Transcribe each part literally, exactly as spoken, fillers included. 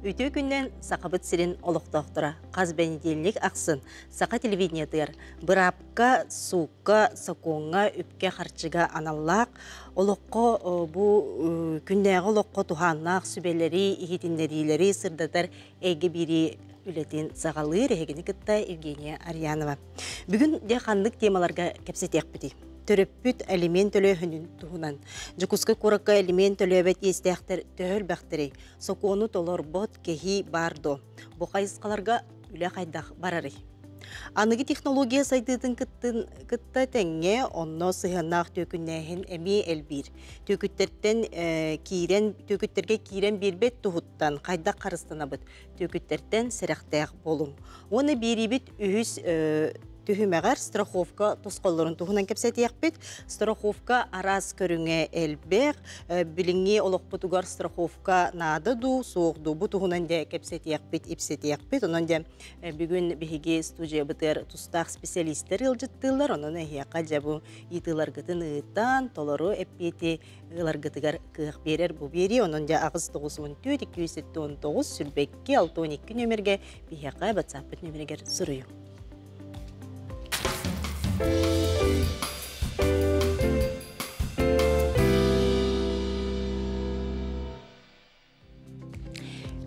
Үтүө күнүнэн Сахабыт сирин олохтоохторо хас бэнидиэнньик ахсын Саха телевидениетыгар быраапка, суукка, сокуоҥҥа, үпкэ-харчыга аналлаах олоххо бу күннээҕи олоххо туһааннаах сүбэлэри, иһитиннэриилэри сырдатар эйгэ биэрии үлэтин саҕалыыр эһигини кытта Евгения Арьянова. Бүгүн дьэ ханнык темаларга кэпсэтиэхпитий? Төрөппүт алимент төлөөһүнүн туһунан. Дьокуускай куоракка алимент төлөөбөт иэстээхтэр төһө элбэхтэрий? Сокуону толорбот киһи баар дуо? Бу хайысхаларга үлэ хайдах барарый? Аныгы технология сайдыытын кыттын кытта тэҥҥэ онно сыһыаннаах түөкүннээһин эмиэ элбиир. Түөкүттэртэн э, киирэн түөкүттэргэ киирэн биэрбэт туһуттан хайдах харыстанабыт? Түөкүттэртэн сэрэхтээх буолуҥ. Уонна биэриибит үһүс э, түһүмэҕэр страховка тосхоллорун туһунан кэпсэтиэхпит. Страховка араас көрүҥэ элбэх, билиҥҥи олохпутугар страховка наада дуу, суох дуу, бу туһунан дьэ кэпсэтиэхпит, ипсэтиэхпит. Онон дьэ бүгүн биһиги студиябытыгар тустаах специалистэр ыалдьыттыыллар, онон эһиэхэ дьэ бу ыйытыыларгытын ыытан, толору эппиэти ыларгытыгар кыах биэрэр бу биэрии. Онон дьэ аҕыс тоҕус уон түөрт икки жүз сэттэ уон тоҕус сүүрбэ икки алта уон икки нүөмэргэ биһиэхэ WhatsApp нүөмэригэр суруйуҥ.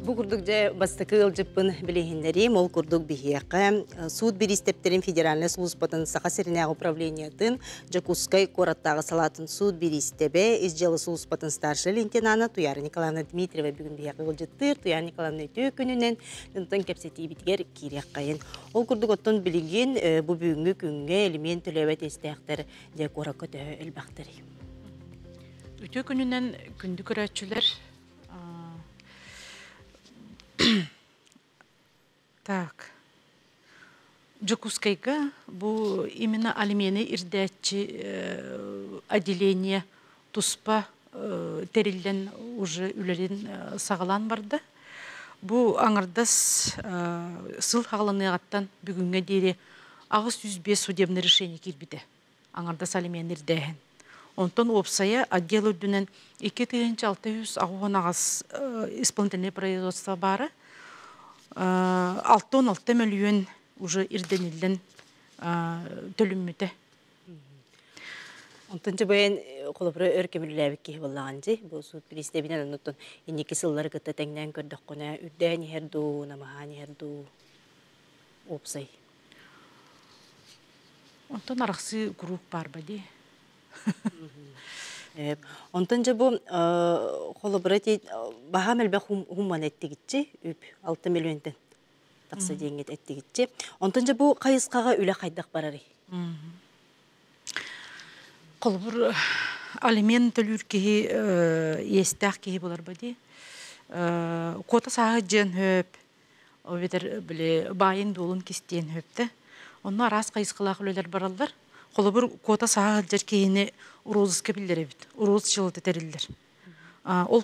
Бу курдук дьэ бастакы ыалдьыппын билиһиннэриим, ол курдук биһиэхэ суут бириистэптэрин федеральнай службатын Саха сиринээҕи управлениетын Дьокуускай куораттааҕы салаатын суут бириистэбэ ис дьыала службатын старшай лейтенана Туяра Николаевна Дмитриева бүгүн биһиэхэ ыалдьыттыыр. Туяра Николаевна үтүө күнүнэн онтон кэпсэтиибитигэр киириэххэйин. Ол курдук оттон билигин бу бүгүҥҥү күҥҥэ алимент төлөөбөт иэстээхтэр дьэ куоракка төһө элбэхтэрий? Үтүө күнүнэн күндү көрөөччүлэр. Так. Дьокуускайга бу именно алимены ирдээччи отделение туспа тэриллэн уже үлэлин саҕалаан барда. Бу аҥардас сыл хаҕаланыаҕыттан бүгүҥҥэ диэри аҕыс сүүс биэс судебное решение киирбитэ. Аҥардас алимены ирдээһин. Онтон уопсайа отдел үрдүнэн икки тыһыынча алта жүз аҕыс аҕыс исполнительное производство баара. Алта он алта мөлүйүөн уже ирдениллэн төлүммүтэ. Онтон дьэ холобура өр кэмилээбит киһи буоллаҕын дии. Бу суут бириистэбинэн оннуттан инники сыллары кытта тэҥнээн көрдөххүнэ үрдээн иһэр дуу, намаһаан иһэр дуу уопсай. Онтон арахсыы куруук баар дии. Онтон дьэ бу холобура баһаам элбэх хумман эттигитчи үп алта миллионтан тахса диэҥҥит эттигитчи. Онтон дьэ бу хайысхаҕа үлэ хайдах барарый? Холобур алимент төлүүр киһи иэстээх киһи буолар дии. Куота сааһы дьиэн хөп, обетер били баайын дуолун кистиэн хөптө. Онно араас хайысхалаах үлэлэр бараллар. Холобур куота сааһы дьэр киһини розыска биллэр эбит. Роз дьыалата тэриллэр. Ол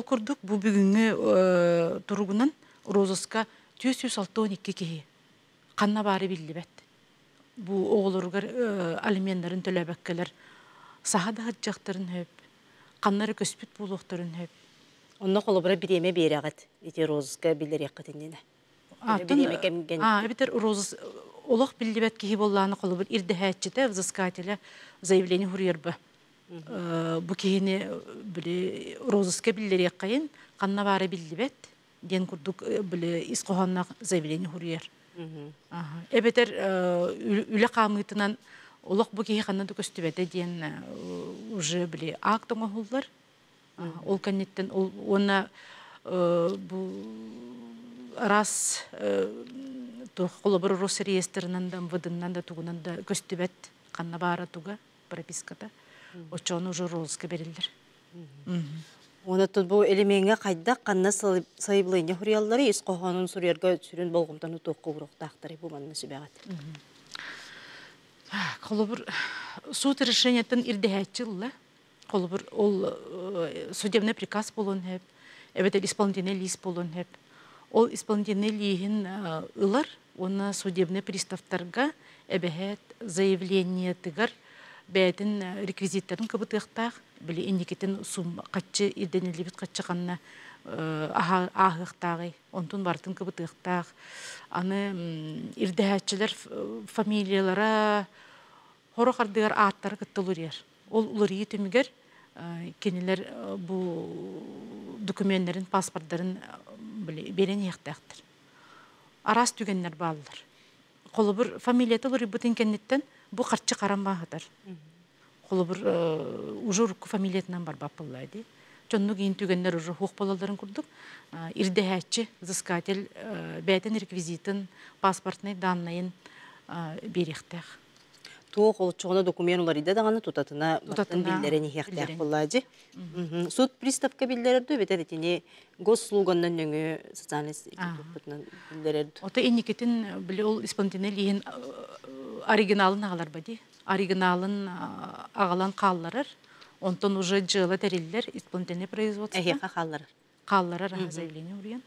курдук бу бүгүҥҥү туругунан розыска түөрт сүүс алта уон икки киһи ханна баары биллибэт. Бу оҕолоругар алименнарын төлөөбөккөлөр саха да хатжахтарын хөп, ханнары көспүт буолуохтарын хөп. Онно холобура бириэмэ биэрэҕит ити розыска биллэриэххитиннинэ. А, эбитер розыс олох биллибэт киһи боллааны холобур ирдэһээччитэ, взыскателя заявление хуруйарба. Бу киһини били розыска биллэриэххайын, ханна баары биллибэт диэн курдук били ис хоһоонноох заявление хуруйар. Эбэтэр үлэ хаамыытынан олох бу киһи ханна да көстүбэтэ диэн уже били акт оҥоһуллар. Ол кэнниттэн уонна бу раз холобур Росреестрынан да МВДнан да тугунан да көстүбэт ханна баара туга прописката. Очону уже розыска берилдер. Оны тут бу элемеңе хайдах канна сайыблыйны хурияллары ис кохонун суруярга сүрүн болгумтан туохка уруктаахтары бу манна сүбэҕит. Холобур суд решениятын ирдэһээччи Холобур ол судебный приказ болон хеп, эбетел исполнительный лист болон хеп. Ол исполнительный лиһин ылар, оны судебный приставтарга эбэһэт заявление тыгар Бэйэтин реквизиттарын кыбытыахтаах, били инникитин сум каччы ирденилибит каччы ханна ааһыахтааҕый, онтун бартын кыбытыахтаах. Аны ирдэһээччилэр фамилиялара хоро хардыгар ааттары кыттылурьер. Ол уларыйы түмүгэр кинилер бу документларын, паспорттарын берен иэхтээхтер. Арас түгеннер бааллар. Холобур фамилията уларыйбытын кэнниттэн бу харчы каран баахатар. Холобур уже урукку фамилиятынан барбаппыллаа ди. Чонну кийин түгеннер уже хуох болаларын курдук. Ирдэһээччи, взыскатель бэйтен реквизитин, паспортный данныйын берихтэх. Туох олчоҕуна документ уларыйда даҕаны тутатына баттан биллэрэн иһиэхтээх буоллаадьы. Суд приставка биллэрэр дуу, бэтэр итини госслуганнан нөҥү социальный институтпутунан биллэрэр. Ото инникитин били ол исполнительный лиһин оригиналын аҕалар бади. Оригиналын аҕалан хаалларар. Онтон уже дьыала тэриллэр исполнительный производство. Эһиэхэ хаалларар. Хаалларар заявление уруйан.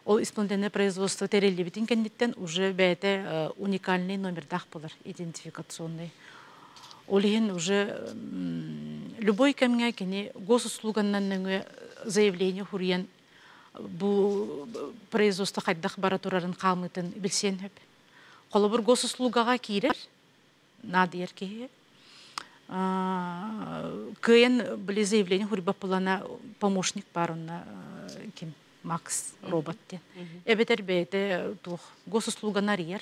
Ол исполнительное производство тэриллибитин кэнниттэн уже бэйэтэ уникальный номердаах болар, идентификационный. Ол иһин уже любой кэмҥэ кини госуслуганнан нөҥүө заявление хуруйан бу производство хайдах бара турарын хаамытын билсиэн хөп. Холобур госуслугаға киирэр, наадыйар киһи. Кыйын били заявление хуруйбаппылана помощник бар онна ким Макс робот ден. Эбетер бэйте туох госуслуганы арыйар,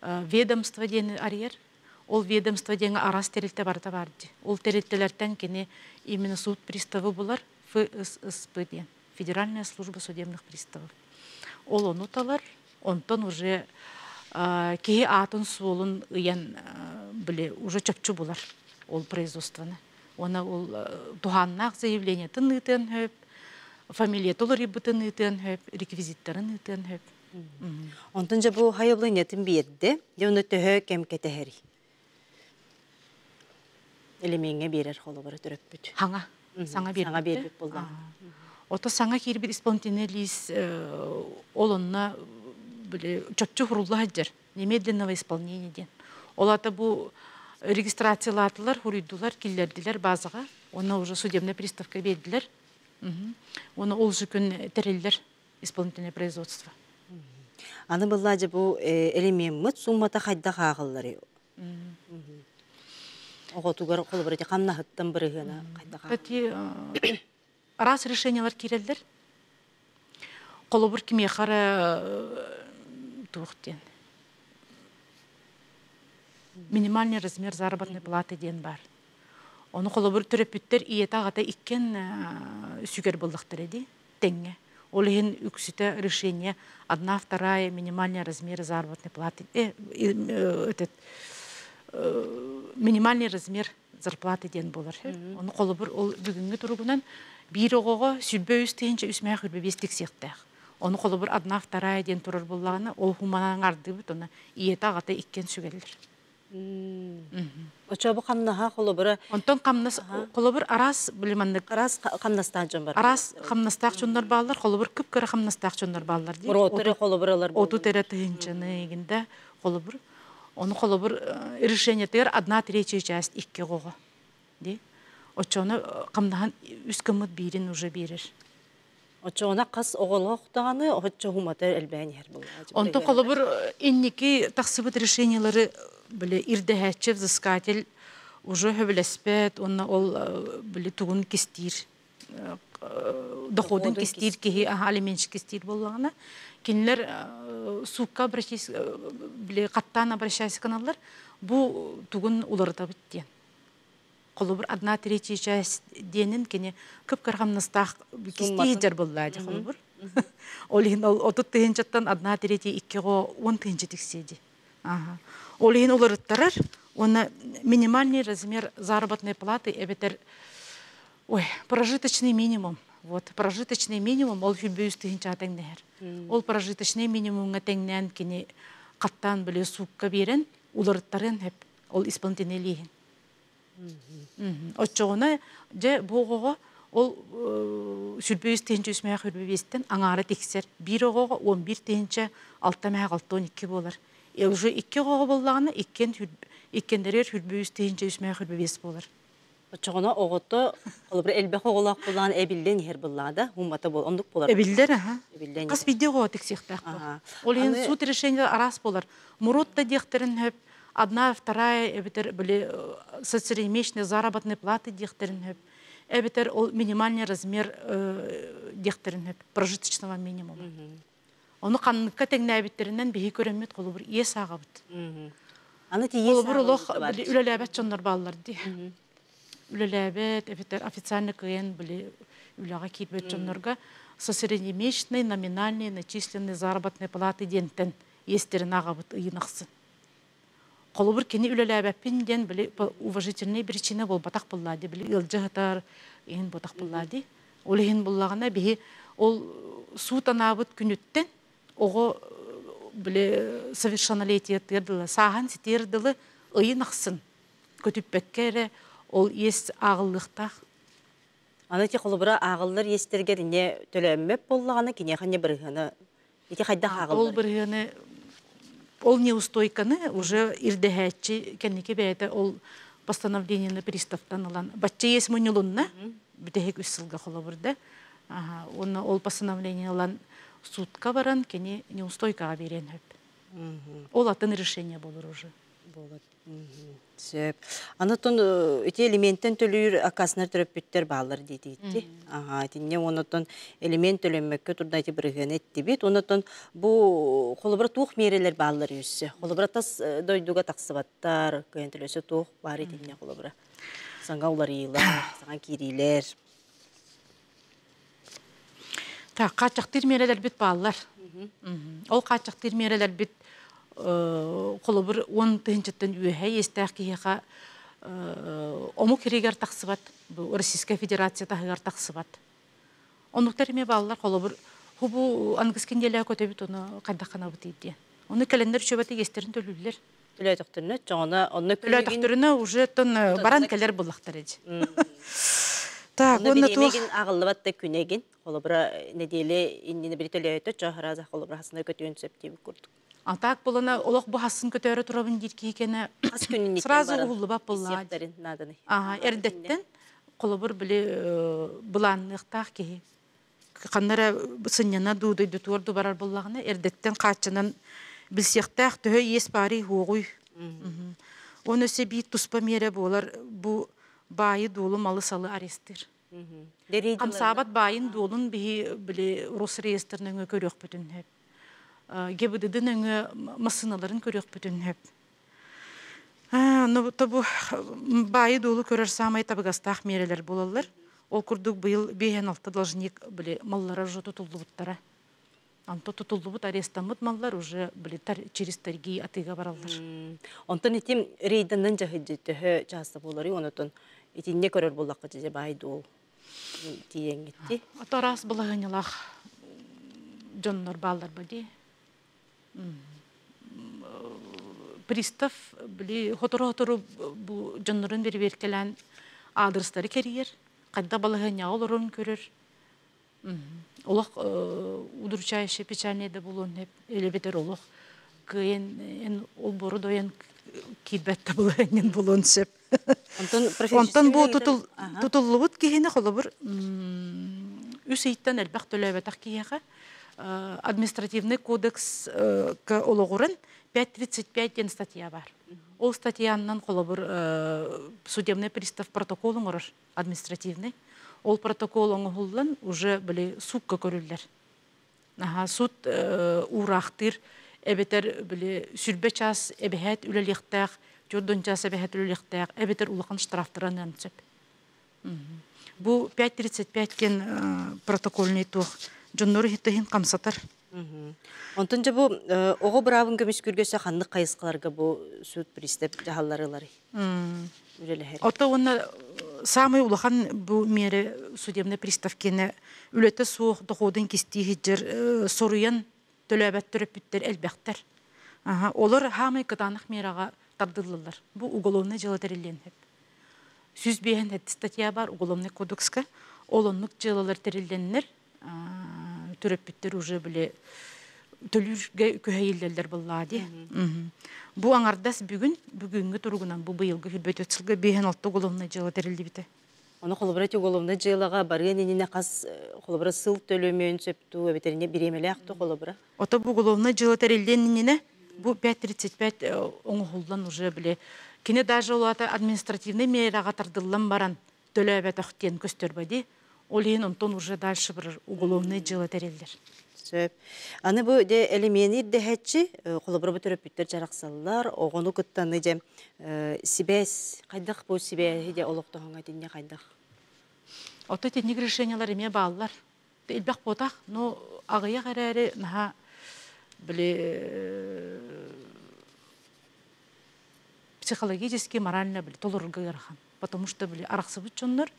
ведомство диэн арыйар. Ол ведомство диэн арас терилте барыта барды. Ол терилтелертен кини именно суд приставы булар Ф С С П диэн. Федеральная служба судебных приставов. Ол ону талар, онтон уже киһи аатын суолун ыйан биле уже чопчу булар ол производствоны. Она ол туханнаах заявление тын хөп, фамилия толорибытын ыытыан хөп, реквизиттарын ыытыан хөп. Онтон жа бу хайыблы биэрде, дьэ оны төһө кэм кэтэһэри. Элемеңе берер холобора төрөппүт. Хаңа. Саңа бербит. Саңа бербит болла. Ото саңа киирбит исполнительный лист ол онна биле чопчу хурулла хаджар. Немедленного исполнения ден. Олата бу регистрациялатылар, хуруйдулар, киллердилер базаға. Оны уже судебная приставка бердилер. Оны ол күн тереллер исполнительное производство. Аны быллажы бу элемеммит суммата хайда хаагыллары. Оҕотугар холобура хамнаһыттан бырыһына хайда. Кстати, раз решениялар киреллер. Холобур кимиэхара туох диэн. Минимальный размер заработной платы диэн бар. Оны холобур төрөппүттэр ийэтэ аҕата иккен сүгэр буллахтар эди тэҥҥэ. Ол иһин үксүтэ решение одна вторая минимальный размер заработной платы. Э, этот, минимальный размер зарплаты диэн болар. Оны холобур ол бүгүҥҥү туругунан биир оҕоҕо сүрбэ үс тыһыынча үс мээх үрбэ биэс тиксиэхтээх. Оны холобур одна вторая диэн турар буллаҕына ол хуманан ардыбыт оны ийэтэ аҕата иккен сүгэллэр. Очо бу хамнаха холобура Онтон хамнас холобур арас билиманнык арас хамнастаах дьон бар. Арас хамнастаах чоннор бааллар, холобур кып-кыра хамнастаах чоннор бааллар ди. Роторы холобуралар. Оту тере тыһынчаны эгинде холобур. Оны холобур решение тегер одна третья часть икки гого. Ди. Очону камнахан үс кымыт бирин уже берер. Очоона қас оҕолоохтаҕаны оччо хумата элбээн иһэр буолла. Онтон холобур инники тахсыбыт решениялары биле ирдэһээччи взыскатель уже хөбүлэспэт, онна ол биле тугун кистиир доходун кистиир киһи алименщик кистиир боллаҕына кинилер суукка обращайся биле каттаан обращайся каналлар бу тугун уларытабыт диэн. Холобур одна третья часть диэнин кини кып-кыргамнастаах кистиир боллаа холобур. Ол иһин ол отут тыһынчаттан одна третья иккиго он тыһынча тиксиэди. Ага. Ол иһин уларыттарар, оны минимальный размер заработной платы эбетер, ой, прожиточный минимум. Вот, прожиточный минимум ол хүлбөйүс тыһынча тэҥнэһэр. Ол прожиточный минимумга тэҥнээн кини каттаан биле суукка берен уларыттарын хеп ол исполнительный лиһин. Оччоҕуна дьэ буоҕоҕо ол сүрбөйүс тыһынча үс мээх үрбэбиэстен аҥаара тиксер. Биир оҕоҕо он бир тыһынча алта мээх алта он икки буолар. Э уже икки оҕоҕо боллаҕына иккен Иккиэннэригэр сүүрбэ үс тыһыынча үс мөөх сүүрбэ биэс буолар. Оччоҕуна оҕото холобура элбэх оҕолоох буолан эбиллэн иһэр буоллаҕа, суммата буол оннук буолар. Эбиллэр, аха. Эбиллэн Хас иһэр. биирдии оҕо тиксиэхтээх буол. Аха. Ол иһин Аны суут решение араас буолар. Мурут да диэхтэрин сөп, одна, вторая, эбэтэр били среднемесячные заработные платы диэхтэрин сөп, эбэтэр ол минимальный размер диэхтэрин сөп, прожиточного минимума. Ону ханныкка тэҥнээбиттеринэн биһи көрөммүт холобур иэс ааҕабыт. Аны ти иэс Холобур олох ааҕыллыбыта бар. били үлэлээбэт дьоннор бааллар дии. Үлэлээбэт, эбэтэр официально кыайан били үлэҕэ киирбэт дьоннорго со среднемесячной номинальной начисленной заработной платы диэнтэн иэстерин ааҕабыт ыйын ахсын. Холобур кини үлэлээбэппин диэн били по уважительной причина буолбатах буоллаа дии, били ыалдьа сытар иһин буотах буоллаа дии. Ол иһин буллаҕына биһи ол суут анаабыт күнүттэн оҕо били совершеннолетие дылы, сааһын ситиэр дылы ыйын ахсын көтүппэккэ эрэ ол иэс ааҕыллыахтаах. Аны ти холобура ааҕыллар иэстэргэр инне төлөөммөт буоллаҕына киниэхэ не бырыһыаны ити хайдах Ол ааҕыллар? бырыһыаны ол неустойканы уже ирдэһээччи кэнники бэйэтэ ол постановлениены приставтан ылан бачча иэс мунньулунна бүтэһик үс сылга холобурда. Аха, онно ол постановление ылан судка баран кини неустойкаҕа биэриэн сөп. Ол атын решение болор уже. Буолар. Сөп. Аны тон ити элементтен төлүүр аккаастанар төрөппүттэр бааллар диэтигитти. Аха, итинне онотон элемент төлөммөккө турда ити бырыһыаны эттибит. Онотон бу холобура туох миэрэлэр бааллар үссе. Холобура тас дойдуга тахсыбаттар, кыйын төлөсө туох бар итинне холобура. Саҥа уларыйыылар, саҥа киириилэр. Так, хааччахтыыр миэрэлэрбит бааллар. Ол хааччахтыыр миэрэлэрбит холобур уон тыһыынчаттан үөһэ иэстээх киһиэхэ омук сиригэр тахсыбат, бу Российская Федерация таһыгар тахсыбат. Оннуктар эмиэ бааллар, холобур хубу аныгыс киниэлээ көтөбүт ону хайдахханабыт диэн. Ону кэлэннэр үчүбэти иэстэрин төлүүллэр. Төлөөтөхтөрүнэ чоҕуна онно күнүгүн Төлөөтөхтөрүнэ уже тон баран кэлэр буллахтар эдь. Так, Онно уонна туох бириэмэгин ааҕыллыбат да күнэгин холобура неделе иннинэ бири төлөөтө чо хараза холобура хасына көтүөн сөп диэбит курдук. А так болана олох бу хасын көтөөрө турабын диир киһи Хас күнүн сразу баран уһуллубат буоллаа. исиэхтэрин нааданы. Ага, эрдэттэн холобур били былаанныахтаах киһи. Ханнара сынньана дуудойду туорду барар буоллаҕына эрдэттэн хааччынан билсиэхтээх төһө иэс баарый хуоҕуй. Оны өссө биир туспа миэрэ буолар бу баайы дуолу малы салы арестыр. Хамсаабат баайын дуолун биһи били Росреестр нөҥүө көрүөхпүтүн сөп. ГИБДД нөҥүө массыыналарын көрүөхпүтүн сөп. Ну, то бу баайы дуолу көрөр самай табыгастаах миэрэлэр буолаллар. Ол курдук быйыл биэһэн алта должник били маллара уже тутуллубуттара. Онто тутуллубут арестаммыт маллар уже били через торги атыыга бараллар. Онтон итим рейданнан жахыджы төһө чааста буолары онотон итинне көрөр буоллахха же баай дуол тиеңгитти. Ото араас балаһыанньалаах дьоннор бааллар ба дии. Пристав били хотору-хотору бу дьоннорун бирибиэркэлээн аадырыстары кэрийэр, хайда балаһыанньаҕа олорорун көрөр. Олох удручающий печальный да буолуон сөп, элебетер олох кыайан эн олбору дойан киирбэт да балаһыанньан буолуон сөп. Онтон Онтон бу тутул тутуллубут киһини холобур үс ыйтан элбэх төлөөбөтөх киһиэхэ административный кодекс олоҕуран пять тридцать пять диэн статья бар. Ол статьянан холобур судебный пристав протокол оҥорор административный. Ол протокол оҥоһуллан уже били суукка көрүллэр. Аха, суд уураахтыыр эбэтэр били сүрбэ час эбэһээт үлэлиэхтээх, төрдөн час эбэһээт үлэлиэхтээх, эбэтэр улахан штрафтарынан сөп. Бу пять тридцать пять диэн протокольный туох дьоннору хиттыһын хамсатар. Онтон же бу оҕо быраабын көмүскүргөсө ханнык хайысқаларга бу суд пристав жаһалларылары үлэлэһэр. Ото уонна самый улахан бу мере судебный приставкене үлэтэ суох доходун кистии хиджер соруян төлөөбөт төрөппүттэр элбэхтэр. Аха, олор хаамай кытаанах мерага тардыллылар. Бу уголовный дьыала тэриллиэн сөп. Сүз биэһэн хэт статья бар уголовный кодекска. Ол оннук дьыалалар тэрилленнер төрөппүттэр уже биле Төлүүргэ күһэйиллэллэр буоллаҕа дии. Бу аҥардас бүгүн, бүгүҥҥү туругунан бу быйылгы сүүрбэ түөрт сылга биэс алта уголовнай дьыала тэриллибитэ. Ону холобура ити уголовнай дьыалаҕа барыан иннинэ хас холобура сыл төлөмүөн сөптүү эбэтэр бириэмэлээх ту холобура? Ото бу уголовнай дьыала тэриллиэн иннинэ бу пять тридцать пять оҥоһуллан уже били кини даже улаата административный мераҕа тардыллан баран төлөөбөтөх диэн көстөрбө. Ол иһин онтон уже дальше барар уголовный дьыала тэриллэр. Сөп. Аны бу де элемени дэһэччи холобура бу төрөппүттэр жарақсаллар, оҕону кыттаны же сибээс хайдах бу сибээһи де олохтоһоҥа тинне хайдах? Ото тинник решениялар эме бааллар. Илбэх ботах, но аҕыйах эрээри наха били психологически, морально били толорурга ыарахан. Потому что били арахсыбыт чоннор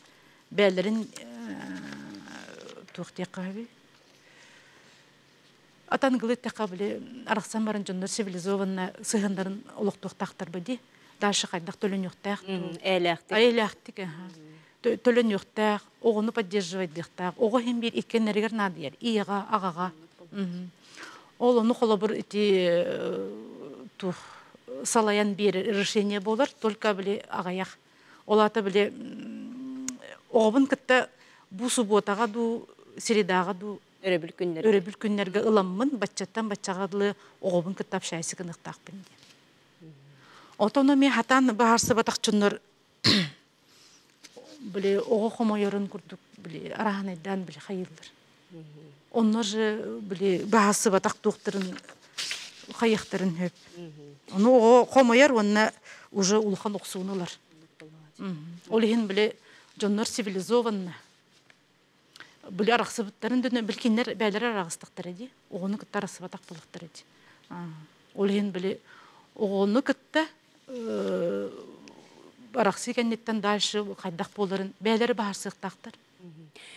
бээлерин туох диэххэ Атан гылыт били арахсан баран дьоннор цивилизованно сыһыннарын олохтуохтаахтар ди. Дальше хайдах төлөнүөхтээх. Ээлээхтик. Ээлээхтик. Төлөнүөхтээх, оҕону поддерживать диэхтээх. Оҕо хим бир иккеннеригер наадыйар. Иэҕа, аҕаҕа. Ол ону холобур ити тух салаян бир решение болар, только били аҕаях. Олата били оҕобун кытта бу субботаға ду, средаға ду өрөбүл күннэргэ. Өрөбүл күннэргэ ыламмын, баччаттан баччаҕадлы оҕобун кытта общайсы гыныктаахпын диэн. Отоно ми хатан баһарсыбатах чуннар били оҕо хомойорун курдук били араһанайдаан били хайыллар. Оннор же били баһарсыбатах туохтарын хайыхтарын хөп. Ону оҕо хомойор онна уже улахан охсуунулар. Ол иһин били дьоннор цивилизованно били арахсыбыттарын дөнө билкиннер бээлер арагыстактар ди. Оҕону кытта арахсыбатах булуктар ди. Ол иһин били оҕону кытта арахсы кэнниттэн дальше хайдах буоларын бээлери баһарсыктаахтар.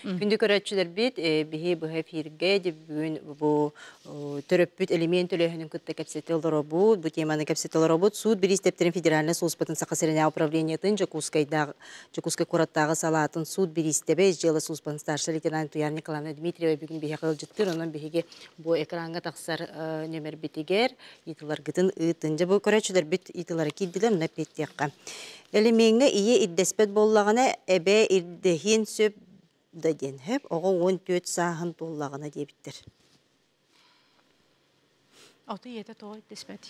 Күндү көрөччүлэр бит биһи быһа эфирге бүгүн бу төрөппүт элемент төлөһүнүн кытта кэпсэти олоробут, бу теманы кэпсэти олоробут. Суут бириистэптэрин федеральный службатын Саха сиринээҕи управлениетын Дьокуускайдааҕы Дьокуускай куораттааҕы салаатын суут бириистэбэ дьыала службатын старший лейтенант Туяр Николаевна Дмитриева бүгүн биһиэхэ ыалдьыттыыр. Онон биһиги бу экраҥҥа тахсар нөмербитигэр ыйытыыларгытын ыытын. Дьэ бу көрөччүлэр бит ыйытыылары киирдилэр, мына петтиэххэ. Элемеңҥэ ийэ ирдэспэт буоллаҕына эбээ ирдэһиэн сөп да диэн хөп, оҕо уон түөрт сааһын туоллаҕына диэбиттэр. Ото ийэтэ тоҕо ирдэспэт.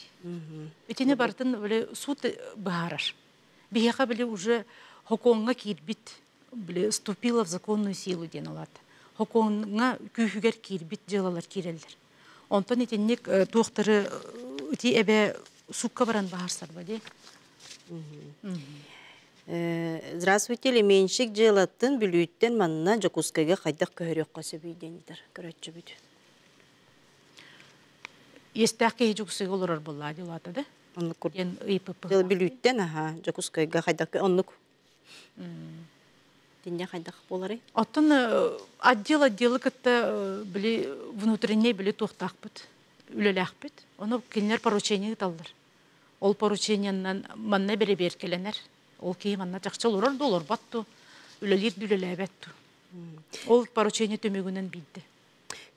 Итини бартын били суут быһаарар. Биһиэхэ били уже хокуоҥҥа киирбит, били вступила в законную силу диэн олат. Хокуоҥҥа күүһүгэр киирбит дьыалалар киирэллэр. Онтон итинник туохтары ити эбэ сукка баран баһарсарба ди. Здравствуйте, элеменщик дьыалатын Бүлүүттэн манна Дьокуускайга хайдах көһөрүөххэ сөбүй диэн ыйытар көрөччүбүт. Иэстээх киһи Дьокуускайга олорор буоллаа дии улаата да? Оннук курдук. Диэн ыйыппыппын. Дьыала Бүлүүттэн, аха, Дьокуускайга хайдах оннук. Тинне хайдах буоларый? Оттон отдел отделы кытта били внутренний били туохтаахпыт, үлэлээхпит. Ону кинилэр поручение ыыталлар. Ол поручениеннан манна бэрэбиэркэлэнэр. Ол киһи манна чахчы олорор да олорбат ту, үлэлиир да үлэлээбэт ту. Ол поручение түмүгүнэн биирдэ.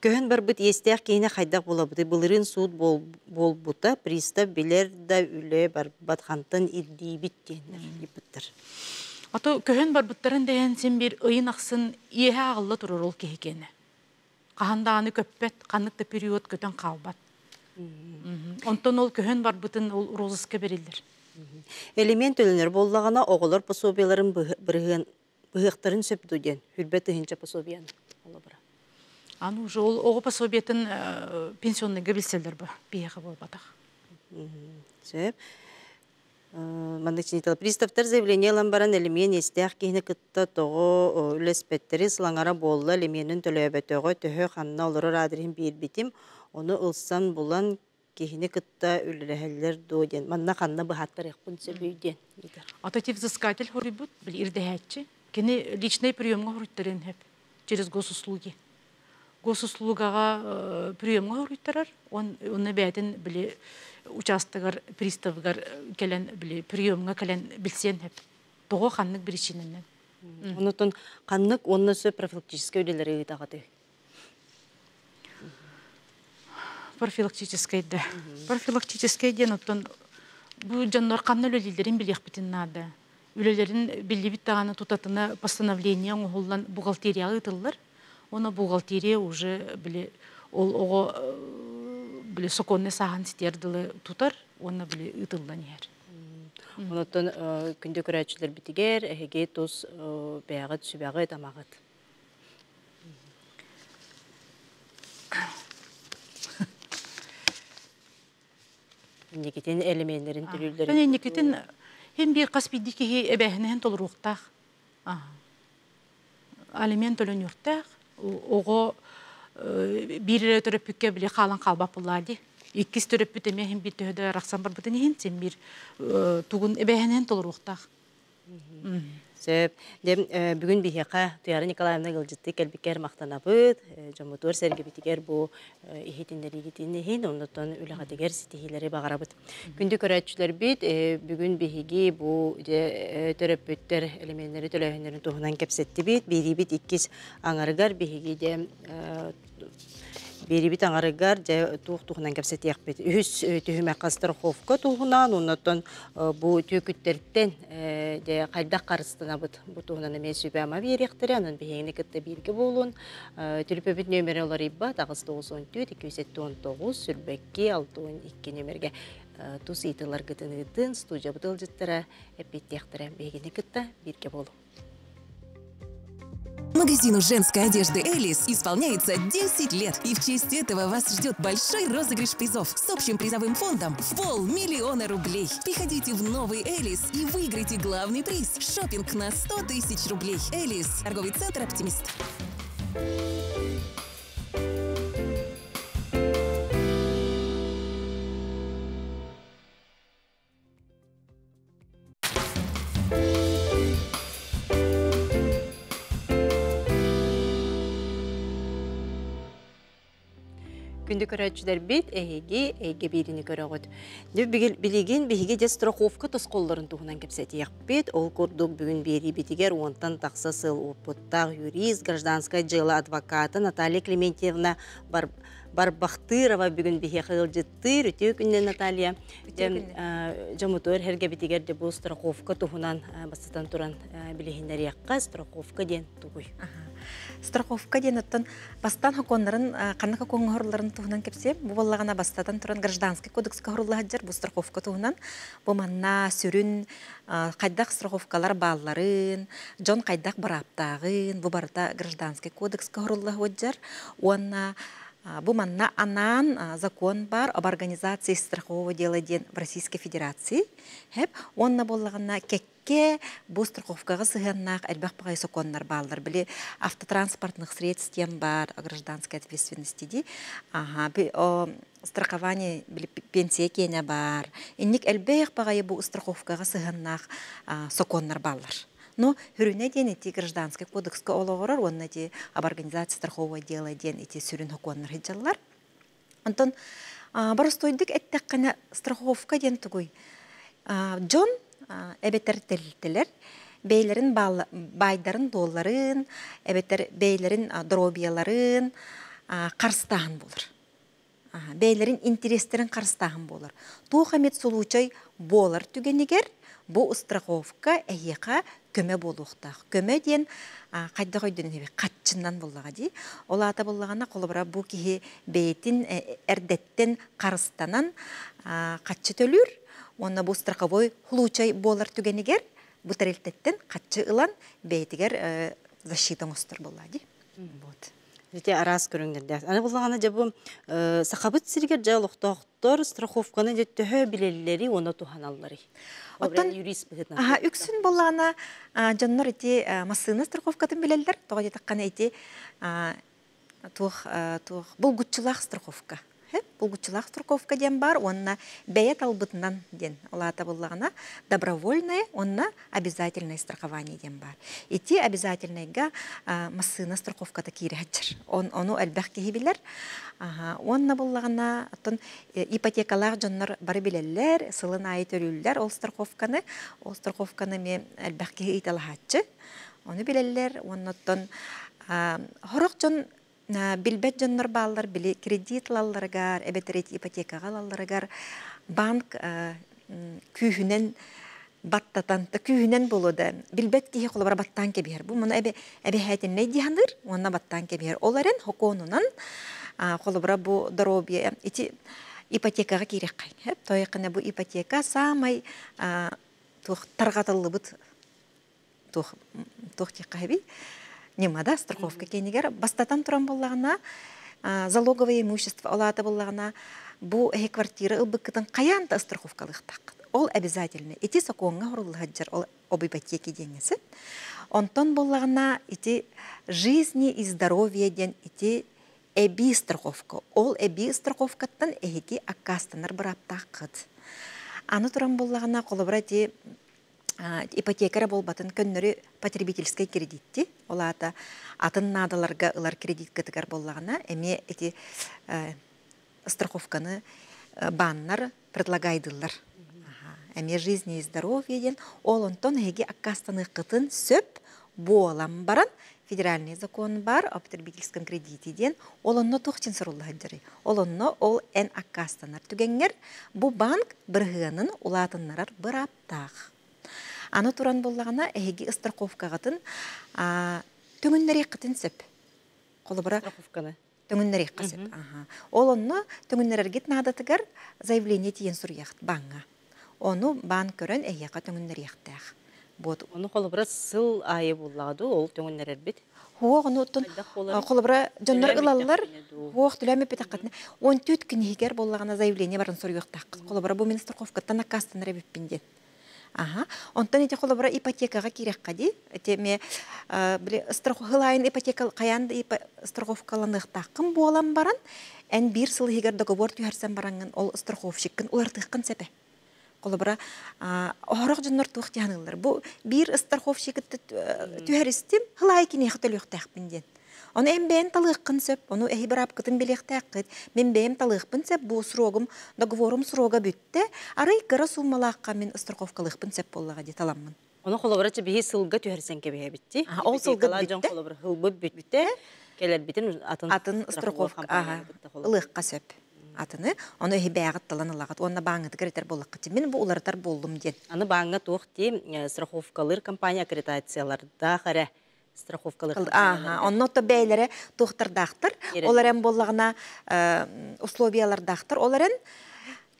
Көһөн барбыт иэстээх киһини хайдах булабыты былырыын суут буолбута, пристав билэр да үлэ барбат хантан ирдиибит диэннэр ыйыппыттар. Ато көһөн барбыттарын дэһэн син бир ыйын ахсын иэһэ аҕылла турар ол киһи киэнэ. Хаһан даҕаны көппөт, ханнык да период көтөн хаалбат. Онтон ол көһөн барбытын ол розыска бериллер. Элемент төлөнөр буоллаҕына оҕолор пособияларын бырыһыан быһыахтарын сөп дуу диэн хүрбэ тыһыынча пособияны олобура. Аны уже ол оҕо пособиятын пенсионныйга билселлер бу биһиэхэ буолбатах. Сөп. Маннык чинитал приставтар заявление ылан баран элемент иэстээх киһини кытта тоҕо үлэспэттэри сылаҥара буолла элеменин төлөөбөтөҕө төһө ханна олорор аадырыһын биэрбитим ону ылсан булан киһини кытта үлэлэһэллэр дуо диэн манна ханна быһааттарыахпын сөбүй диэн ыйытар. Ото ти взыскатель хоруйбут били ирдэһээччи кини личный приемҥа хоруйтарын хөп через госуслуги. Госуслугаға приемҥа хоруйтарар, он онно бээтин били участогар приставыгар кэлэн били приемҥа кэлэн билсиэн хөп. Тоҕо ханнык причинэнэн. Онотон ханнык онно сөп профилактическай үлэлэри ыытаҕыты? Профилактический да. Профилактический диэн оттон бу дьоннор ханна үлэлииллэрин билиэхпитин наада. Үлэлэрин биллибит даҕаны тутатына постановление оҥоһуллан бухгалтерияҕа ыытыллар. Уонна бухгалтерия уже били ол оҕо били сокуоннай сааһын ситиэр дылы тутар уонна били ыытыллан иһэр. Онтон күндү көрөөччүлэр битигэр эһиги тус бэйэҕит сүбэҕит амаҕыт. Инникитин элеменнерин төлүүллэрин. Инникитин хем бир хас биирдии киһи эбээһинэһин толоруохтаах. Алимент төлөнүөхтээх. Оҕо биир эрэ төрөппүккэ били хаалан хаалбат буоллаа дии. Иккис төрөппүт эмиэ хем бир төһө да арахсан барбытын иһин син биир тугун эбээһинэһин толоруохтаах. Сөп. Дьэ, бүгүн биһиэхэ Туяра Николаевна ыалдьыттыы кэлбиккэр махтанабыт. Дьоммутугар сэргэбитигэр бу иһитиннэриигитин иһин, оннуттан үлэҕитигэр ситиһиилэри баҕарабыт. Күндү көрөөччүлэрбит, бүгүн биһиги бу дьэ төрөппүттэр элеменнэри төлөөһүннэрин туһунан кэпсэттибит. Биэриибит иккис аҥарыгар биһиги дьэ Биэрибит аҥарыгар дьэ туох туһунан кэпсэтиэхпит. Үһүс түһүмэххэ страховка туһунан, оннуттан бу түөкүттэртэн дьэ хайдах харыстанабыт бу туһунан эмиэ сүбэ-ама биэриэхтэрэ, онон биһигини кытта бииргэ буолун. Төлөпүөпүт нөмерэ уларыйбат, аҕыс тоҕус он түөрт, икки жүз сэттэ он тоҕус, сүүрбэкки, алта уон икки нөмергэ тус ыйытыыларгытын ыытын, студиябыт ыалдьыттара эппиэттиэхтэрэ. Биһигини кытта бииргэ буолун. Магазину женской одежды «Элис» исполняется десять лет. И в честь этого вас ждет большой розыгрыш призов с общим призовым фондом в полмиллиона рублей. Приходите в новый «Элис» и выиграйте главный приз – шопинг на сто тысяч рублей. «Элис» – торговый центр «Оптимист». Күндү көрөөччүлэрбит, эһиги эйгэ биирини көрөҕүт. Билигин биһиги дьэ страховка тосхоллорун туһунан кэпсэтиэхпит. Ол курдук бүгүн биэриибитигэр уонтан тахса сыл опыттаах юрист, гражданскай дьыала адвоката Наталья Клементьевна Барбахтырова бүгүн биһиэхэ ыалдьыттыыр. Үтүө күннэн, Наталья. Дьоммутугар сэргэбитигэр дьэ бу страховка туһунан бастатан туран билиһиннэриэххэ. Страховка диэн тугуй? Страховка диэн оттон бастан хоконнарын ханнык хокоҥҥоһорларын туһунан кэпсиэм. Бу буоллаҕына бастатан туран гражданский кодекска хорурлаһаджар бу страховка туһунан. Бу манна сүрүн хайдах страховкалар баалларын, дьон хайдах бырааптааҕын, бу барыта гражданский кодекска хорурлаһаджар. Уонна бу манна анаан закон бар об организации страхового дела диэн в Российской Федерации. Хеп, онна буоллаҕына кэккэ бу страховкаҕа сыһыаннаах элбэх баҕайы сокуоннар бааллар. Били автотранспортных средств диэн бар гражданской ответственности ди. Ага, би, о, страхование били пенсия киэнэ бар. Инник элбэх баҕайы бу страховкаҕа сыһыаннаах сокуоннар бааллар. Но хүрүнэ диэн ити гражданский кодекска олоҕорор, уонна ити об организации страхового дела диэн ити сүрүн хокуоннар хыдьаллар. Онтон боростойдук эттэххинэ страховка диэн тугуй? Дьон эбэтэр тэрилтэлэр бэйлэрин байдарын долларын, эбэтэр бэйлэрин дробияларын харыстааһын буолар. Бэйлэрин интерестерин харыстааһын буолар. Туох эмит случай буолар түгэнигэр бу страховка эһиэхэ көмө буолуохтаах. Көмө диэн хайдах өйдөнөн эбит хатчыннан буоллаҕа дии. Ол аата буоллаҕына холобура бу киһи бэйэтин эрдэттэн харыстанан хатчы төлүүр. Уонна бу страховой случай буолар түгэнигэр бу тэрилтэттэн хатчы ылан бэйэтигэр защита оҥостор буоллаҕа дии. Вот. Ити араас көрүҥнэрдээх. Аны буоллаҕына дьэ бу сахабыт сиригэр дьэ олохтоохтор страховканы дьэ төһө билэллэри уонна туһаналларый? Оттон юрист быһыытынан. Аха, үксүн буоллаҕына дьоннор ити массыына страховкатын билэллэр. Тоҕо диэтэххинэ ити туох туох булгуччулаах страховка. Булгуччулаах страховка диэн бар, уонна бэйэ талбытынан диэн улаата буоллаҕына добровольное уонна обязательное страхование диэн бар. Ити обязательныйга массыына страховката киирээччэр. Ону элбэх киһи билэр. Уонна буоллаҕына оттон ипотекалаах дьоннор бары билэллэр, сылын аайы төрүүллэр ол страховканы. Ол страховканы эмиэ элбэх киһи ыйталаһааччы. Ону билэллэр, уонна оттон хорох дьон Билбет дьоннор бааллар били кредит лалларыгар, эбэтэр ипотекаҕа лалларыгар банк күүһүнэн баттатан, күүһүнэн болу да билбет киһи холобура баттаан кэбиһэр. Бу муну эбэ эбэһээтиннэй диһаныр, уонна баттаан кэбиһэр. Ол эрэн хокуонунан холобура бу здоровье ити ипотекаҕа киирэххэ. Хеп тойыкына бу ипотека самай туох таргатыллыбыт туох туох тиэххэби немада страховка кенигер бастатан туран боллагына залоговое имущество олаата боллагына бу эһи квартира ылбыккытын каян да страховкалыхтак. Ол обязательно. Ити сокоҥҥа хоруллахаджар ол об ипотеке денеси. Онтон боллагына ити жизни и здоровье ден ити эби страховка. Ол эби страховкаттан эһиги аккастанар быраптааккыт. Аны туран боллагына холобура ити ипотекара болбатын көннөрү потребительский кредитти. Олаата атын надаларга ылар кредит кытыгар боллагына эме эти страховканы баннар предлагайдылар. Эме жизни и здоровье ден ол онтон эһиги аккастаны кытын сөп буолан баран федеральный закон бар о потребительском кредите ден ол онно тухчин соруллахаджары. Ол онно ол эн аккастанар түгенгер бу банк бырыһыанын улаатыннарар быраптаах. Аны туран боллагана эһиги страховкагатын төңүннәри кытын сөп. Холобура страховканы. Төңүннәри кысып. Аха. Ол онно төңүннәргит надатыгар заявление тиен сурьяхт банга. Ону бан көрөн эһиэхэ төңүннәри яхтаах. Вот. Ону холобура сыл айы буллагы ол төңүннәрер бит. Хуох, ону оттон холобура дьоннор ылаллар. Хуох түләмә бит акытны. Он түт книгер боллагана заявление барын сурьяхтаах. Холобура бу мин страховкаттан аккастанар биппин ден. Ага. Онтон эти холобура ипотекаға кирек қади. Эти ме биле страховкалайын ипотека каянда страховкаланыктакын буолан баран, эн бир сыл хигер договор түһәрсән барангын ол страховщиккин улартыккын сепе. Холобура орох жоннор туох тиһанылар. Бу бир страховщик түһәристим, хылай кине хатылыктакпын ден. Оны эм бэйэн талыыккын сөп, ону эһи бырапкытын билиэхтээккит. Мен бэйэм талыыкпын сөп, бу срогум, договорум срога бүттэ. Арай кыра суммалаакка мен страховкалыыкпын сөп боллаға ди таламмын. Оны холобурачы биһи сылга түһэрсэн кэбиһэ битти. Ол сылга бүттэ. Холобура хылбы бүттэ. Келер битин атын атын страховка, ага, ылыыкка сөп. Атыны, оны эһи бэйэҕит талан ылаҕыт, уонна бааҥҥытыгар этэр боллаххыт. Мин бу уларытар боллум диэн. Аны бааҥҥа туох ти страховкалыр компания аккредитациялардаах эрэ страховкалыр. Ага, онно то бэйлэре туохтардаахтар, олар эм боллаҕына условиялардаахтар, олар эн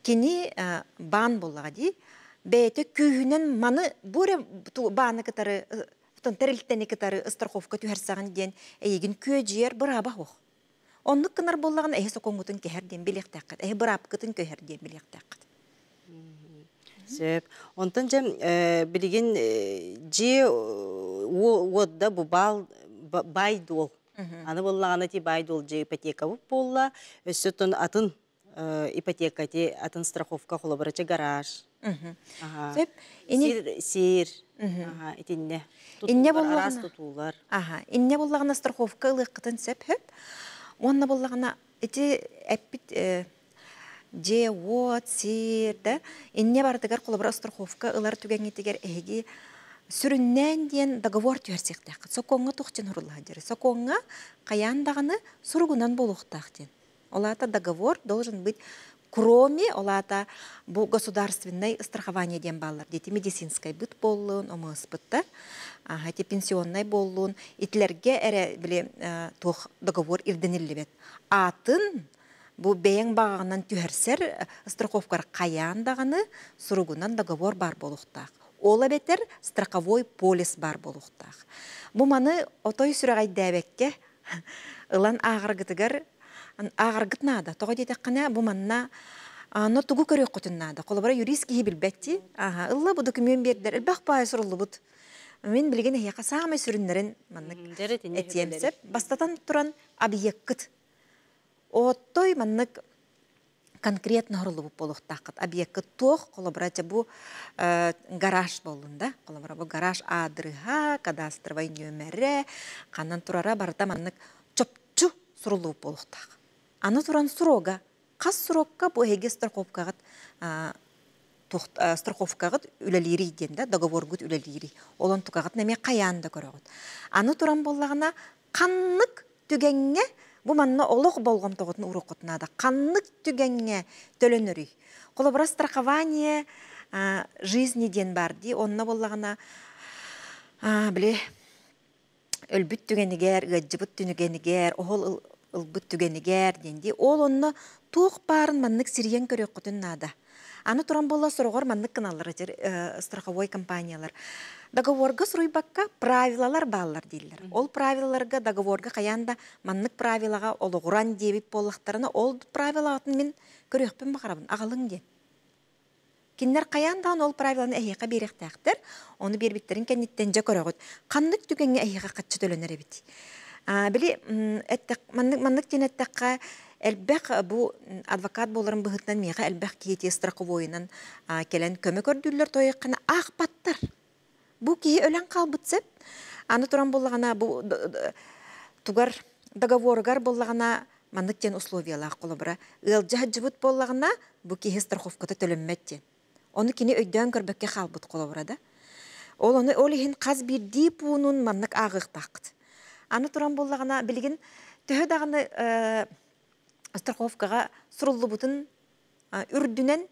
кини баан боллаҕа ди. Бэйэтэ күүһүнэн маны буре бааны кытары, тэрилтэни кытары страховка түһэрсэҕин диэн эйигин күөдьүйэр бырааба хуох. Оннук кынар боллаҕына эһи сокоҥҥутун кэһэр диэн билиэхтээххит, эһи быраапкытын көһэр диэн билиэхтээххит. Сөп. Онтон жем билигин же уодда бу бал байдол. Аны боллаҕына ти байдол же ипотека буп болла, өссөтөн атын ипотека ти атын страховка холобурачы гараж. Сөп. Сир, сир. Ага, итинне. Инне боллаҕына. Тутуулар. Ага, инне боллаҕына страховка ылыыккытын сөп хөп. Онна боллаҕына ити эппит же уот сир да инне бардыгар холобура страховка ылар түгэҥҥитигэр эһиги сүрүннээн диэн договор түһэрсиэхтээххит. Сокоҥҥа тухчин хуруллаха диэри. Сокоҥҥа каян даҕаны суругунан буолуохтаах диэн. Олаата договор должен быть кроме олаата бу государственное страхование диэн бааллар. Дети медицинскай быт боллун, омыспытта, ага, те пенсионный боллун, итлерге эре биле туох договор ирдениллибет. Атын бу бэйэң бағағынан түһәрсер страховкар каян дағаны суругунан договор бар болуқтақ. Ола бетер страховой полис бар болуқтақ. Бу маны отой сүрәгәйдәбәккә ылан ағыргытыгар ағыргыт нада. Тоға детеккана бу манна аны тугу көрөк көтүн нада. Колобара юрист киһи билбетти. Аха, ылла бу документ бердер. Элбэх бай суруллубут. Мен билген яка самай сүрүннәрен маннык этиемсеп бастатан туран объекткыт. Оттой маннык конкретно хорулубут болуктакыт. Объектка туох колобрача бу гараж болдун да. Колобра бу гараж адрыха, кадастровай нөмере, канан турара барта маннык чопчу сурулубут болуктак. Аны туран сурога, кас сурокка бу эге страховкагыт страховкагыт үлелири ден да, договоргут үлелири. Олон тукагыт неме каянда көрөгөт. Аны туран боллагына каннык түгенге Бу манна олох болҕомтоҕутун уруоххутун наада. Ханнык түгэҥҥэ төлөнөрүй? Холобура, страхование жизни диэн бар дии. Онно буоллаҕына, били өлбүт түгэнигэр, ыалдьыбыт түгэнигэр, оһол ылбыт түгэнигэр диэн дии. Ол онно туох баарын маннык сирийэн көрүөххүтүн наада. Аны туран буолла сороҕор маннык гыналлар страховой компаниялар. Договорга суруйбакка правилалар бааллар дииллэр. Ол правилаларга договорга хайаан да маннык правилаҕа олоҕуран диэбит буоллахтарына, ол правилаҕытын мин көрүөхпүн баҕарабын, аҕалыҥ диэн. Кинилэр хайаан даҕаны ол правиланы эһиэхэ биэриэхтээхтэр, ону биэрбиттэрин кэнниттэн дьэ көрөҕүт. Ханнык түгэҥҥэ эһиэхэ хаччы төлөнөр эбит. Били маннык маннык диэн эттэххэ, элбэх бу адвокат буоларын быһыытынан миэхэ элбэх киһи страховойунан кэлэн көмө көрдүүллэр тойоххана аахпаттар. Бу киһи өлөн хаалбыт сөп. Аны туран буоллаҕына бу тугар договоругар буоллаҕына маннык диэн условиялаах холобура. Ыалдьа сылдьыбыт буоллаҕына бу киһи страховката төлөммөт диэн. Ону кини өйдөөн көрбөккө хаалбыт холобура да. Ол ону ол иһин хас биирдии пуунун маннык ааҕыахтааххыт. Аны туран буоллаҕына билигин төһө даҕаны страховкаҕа суруллубутун үрдүнэн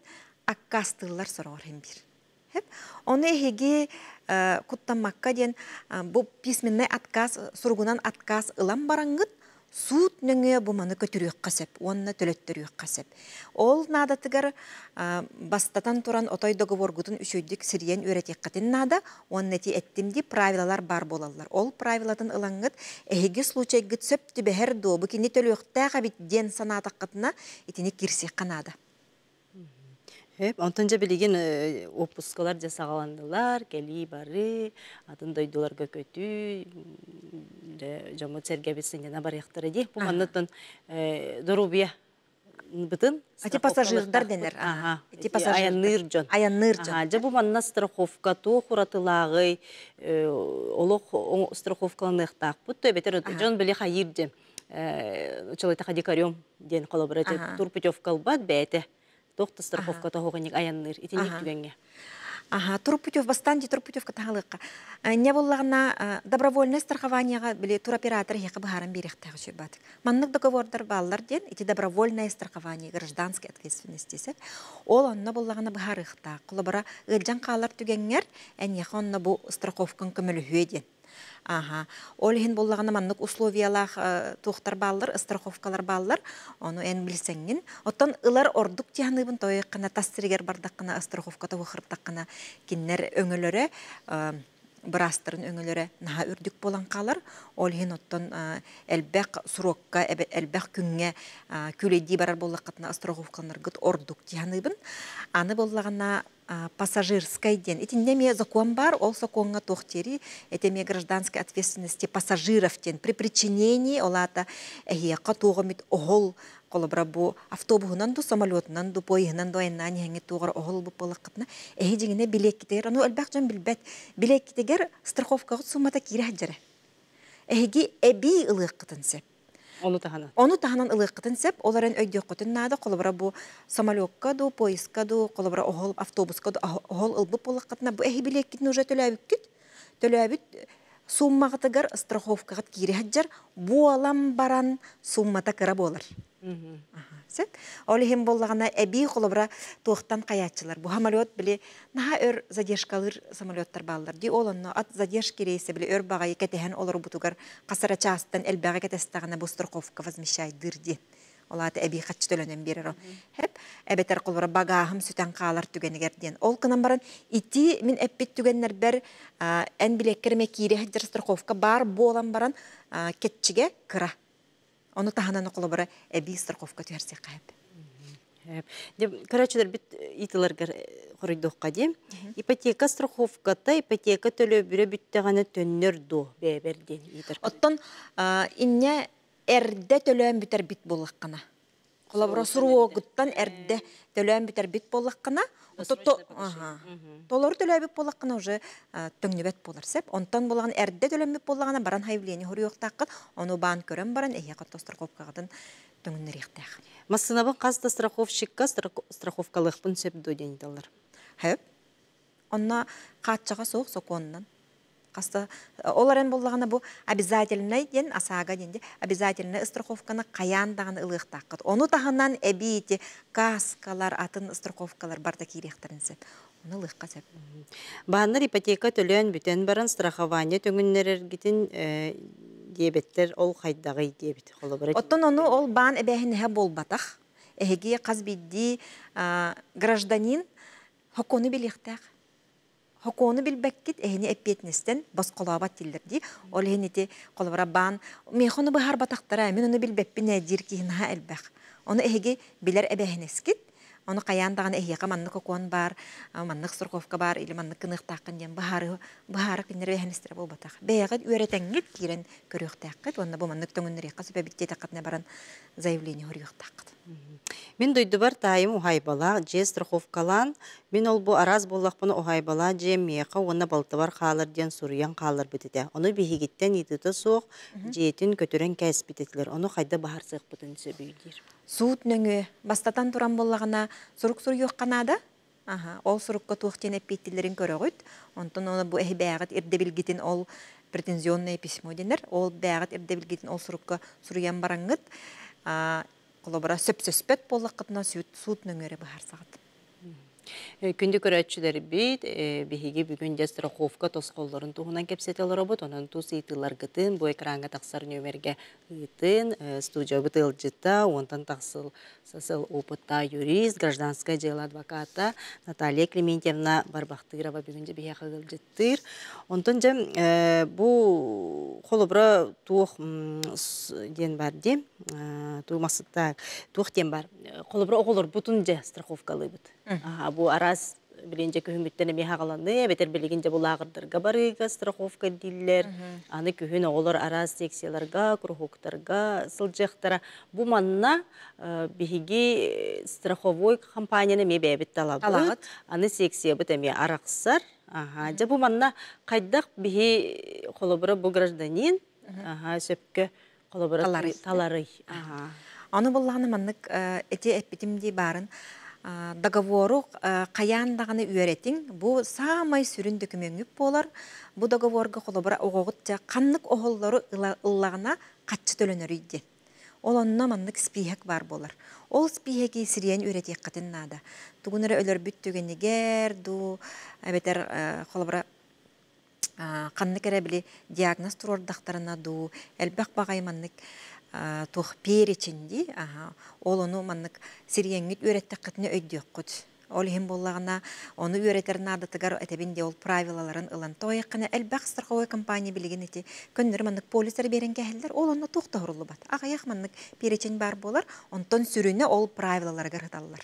аккаастыыллар сороҕор иһин биир. Ону эһиги куттаммакка диэн бу письменный отказ суругунан отказ ылан бараҥҥыт суут нөҥүө бу маны көтүрүөххэ сөп уонна төлөттөрүөххэ сөп. Ол наадатыгар бастатан туран отой договоргутун үчүгүйдүк сирийэн үөрэтиэххитин наада, уонна ити эттим дии правилалар бар буолаллар. Ол правилатын ылаҥҥыт эһиги случайгыт сөп түбэһэр дуо, бу кини төлүөхтээх эбит диэн санаатаххытына итини киирсиэххэ наада. Онтон дьэ билигин отпускалар дьэ саҕаланнылар, кэлии бары, атын дойдуларга көтүү, дьоммут сэргэбит сынньана барыахтара дии. Бу манныттан доруобуйа бытын Ити пассажирдар денер. Ити пассажирдар. Аянныыр дьон. Аянныыр дьон. Дьэ бу манна страховка туох уратылааҕый, олох страховкаланыахтаахпыт, эбэтэр дьон били хайыыр дьэ. Чолойта дикарем диэн холобура турпутевка ылбат бэйэтэ. Туох страховка тоһоҕунник аянныыр итинник түгэҥҥэ. Аха, турпутев бастан ди турпутевка таһалыкка. Не боллаҕына добровольное страхованияга били туроператор хеха быһааран биэриэхтээх үчүгэй. Маннык договордар бааллар диэн ити добровольное страхование гражданской ответственности сеп. Ол онно боллаҕына быһаарыахтаах. Холобура ыалдьан хаалар түгэҥҥэр эньиэхэ онно бу страховкаҥ көмөлөһүө диэн. Аха. Ол иһин боллаҕына маннык условиялаах туохтар бааллар, страховкалар бааллар. Ону эн билсэҥҥин. Оттон ылар ордук тиһаныыбын тойоххына тас сиригэр бардаххына страховка туохыртаххына киннэр өҥөлөрө быраастарын өҥөлөрө наһаа үрдүк буолан хаалар. Ол иһин оттон элбэх срокка, элбэх күҥҥэ күлэйдии барар буоллаххытына страховкаларгыт ордук тиһаныыбын. Аны боллаҕына пассажирскай диэн. Итиннэ эмиэ закон бар, ол сокуоҥҥа туох диэри, это эмиэ гражданской ответственности пассажиров диэн. При причинении ол аата эһиэхэ туоҕа эмит оһол холобура бу автобуһунан ду, самолетунан ду, поездынан ду айаннаан иһэҥҥит туоҕар оһол ылбыт буоллаххытына, эһи дьиҥинэ билиэккитигэр, ону элбэх дьон билбэт, билиэккитигэр страховкаҕыт суммата киирэ сылдьара. Эһиги эбии ылыаххытын сөп. Ону таһынан. Ону таһынан ылыаххытын сөп, ол эрэн өйдүөххүтүн наада, холобура бу самолекка ду, поездка ду, холобура оһол автобуска ду оһол ылбыт буоллаххытына, бу эһи билиэккитин уже төлөөбүккүт. Төлөөбүт суммаҕытыгар страховкаҕыт киирэ сылдьар, буолан баран суммата кыра буолар. Сөп. Ол иһин буоллаҕына эбии холобура туохтан хайааччылар. Бу самолет били наһаа өр задержкалыыр самолеттар бааллар. Ди ол онно от задержки рейсэ били өр баҕайы кэтэһэн олорбутугар хасара чаастан элбэҕи кэтэстэҕинэ бу страховка возмещайдыыр диэн. Ол аата эбии хаччы төлөнөн биэрэр. Хеп эбэтэр холобура багааһым сүтэн хаалар түгэнигэр диэн. Ол гынан баран ити мин эппит түгэннэрбэр эн билиэккэр эмэ киирэ сылдьар страховка бар буолан баран кетчигэ кыра. Ону таһынан холобура эбии страховка түһэрсиэххэ сөп. Көрөөччүлэр бит ыйытыыларгар хоруйдуохха дии. Ипотека страховката ипотека төлөбүрэ бүттэҕинэ төннөр дуо бэйэбэр диэн ыйытар. Оттон инньэ эрдэ төлөөн бүтэрбит буоллаххына. Холобура срогуттан эрдэ төлөөн бүтэрбит буоллаххына, толору төлөөбүт буоллаххына уже төҥнүбэт буолар сөп. Онтон буоллаҕына эрдэ төлөммүт буоллаҕына баран заявление хоруйуохтааххыт, ону баан көрөн баран эһиэхэ страховкаҕытын төҥүннэриэхтээх. Массыынабын хас да страховщикка страховкалыахпын сөп дуо диэн ыйыталлар. Сөп. Онно хааччаҕа суох сокуонунан. Қаста олар боллағына бу обязательный ден ОСАГО денде обязательный страховканы қаян дағаны ылықтаққыт. Оны тахынан әбейте каскалар, атын страховкалар барда кирехтерінсіп. Оны ылыққа сәп. Бааннар ипотека төлөөн бүтен баран страхование төңүннерергитин диабеттер ол хайдагы диабет. Оттон оны ол баан эбэһинэһэ болбатах. Эһиги қаз бидди гражданин хокону билихтах. Хокону билбеккит эһини эппиэтнестен босқолообат тиллерди. Ол эһинити колобара баан мехону быһар батахтара мен оны билбеппин эдир киһинаха элбэх. Оны эһиги билер эбэһинескит. Оны каян даган эһиэка маннык окуон бар, маннык страховка бар, или маннык кыныктааккын диэн баһары баһары киннер эһинестер болбатах. Бэйэҕит үөрэтэҥҥит киирэн көрүөхтээххит, уонна бу маннык төҥүннэриэххэ сүбэбиттиэ таххытына баран заявление хоруйуохтааххыт. Мин дойдубар таайым ухайбала, же страховкалан, мин ол бу араз боллақпын ухайбала, же меха уонна балтыбар хаалар диэн суруйан хаалар битите. Ону биһигиттен итыта суох, жиэтин көтөрөн кээс битетилер. Ону хайда баһар сыахпытын сөбүйдир. Суут нөңү бастатан туран боллағына сурук суруйуох канада. Аха, ол сурукка туох тиэн эппиттилерин көрөгүт. Онтон оны бу эһи бэҕит ирдебилгитин ол претензионное письмо денер. Ол бэҕит ирдебилгитин ол сурукка суруйан бараңгыт. Колобара сөп-сөспөт боллаққытына суут нөңөрө баһар сағат. Күндү көрөччүлөр бит, биһиги бүгүн де страховка тосқоллорун туһунан кепсетелер обут, онон тус ыйтыларгытын бу экранга тахсар нөмерге ыйтын, студия бытылжыта, онтан тахсыл сасыл опытта юрист, гражданское дело адвоката Наталья Клементьевна Барбахтырова бүгүн де биһиэхэ ылжыттыр. Онтон же бу холобра туох ден бар ди, ту масытта туох ден бар. Холобра оголор бутун же страховкалыбыт. Бу арас билинже күһүмүттен эми хагаланы, бетер билигинже бу лагырдарга барыга страховка диллер. Аны күһүн оголор арас секцияларга, кружоктарга сылжыктара. Бу манна биһиги страховой компанияны ме бэбит талабыт. Аны секция бит эми араксар. Аха, жа бу манна кайдак биһи холобура бу гражданин, аха, сөпкө холобура талары. Аха. Аны булланы маннык эти эппитим ди барын договору каян даганы үөретиң, бу самай сүрүн дөкүмөңүп болар. Бу договорга холобура огогутча каннык оһоллору ыллагына катчы төлөнөр үйден. Ол онно маннык спиһек бар болар. Ол спиһеки сириен үөретиэккатын наада. Тугунары өлөр бүттүгенигер ду эбетер холобура каннык эрэ били диагноз турордахтарына ду элбэх багай маннык тух переченди, аха, ол ону маннык сириеңгит үөреттеккытны өйдүөккут. Ол иһин боллагына, ону үөретер наадатыгар этебин де ол правилаларын ылан. Тояккана элбэх страховой компания билигин эти көннөр маннык полистер берен кэһэллэр, ол онно тух тохруллубат. Агаяк маннык перечень бар болар, онтон сүрүнө ол правилаларга ырыталлар.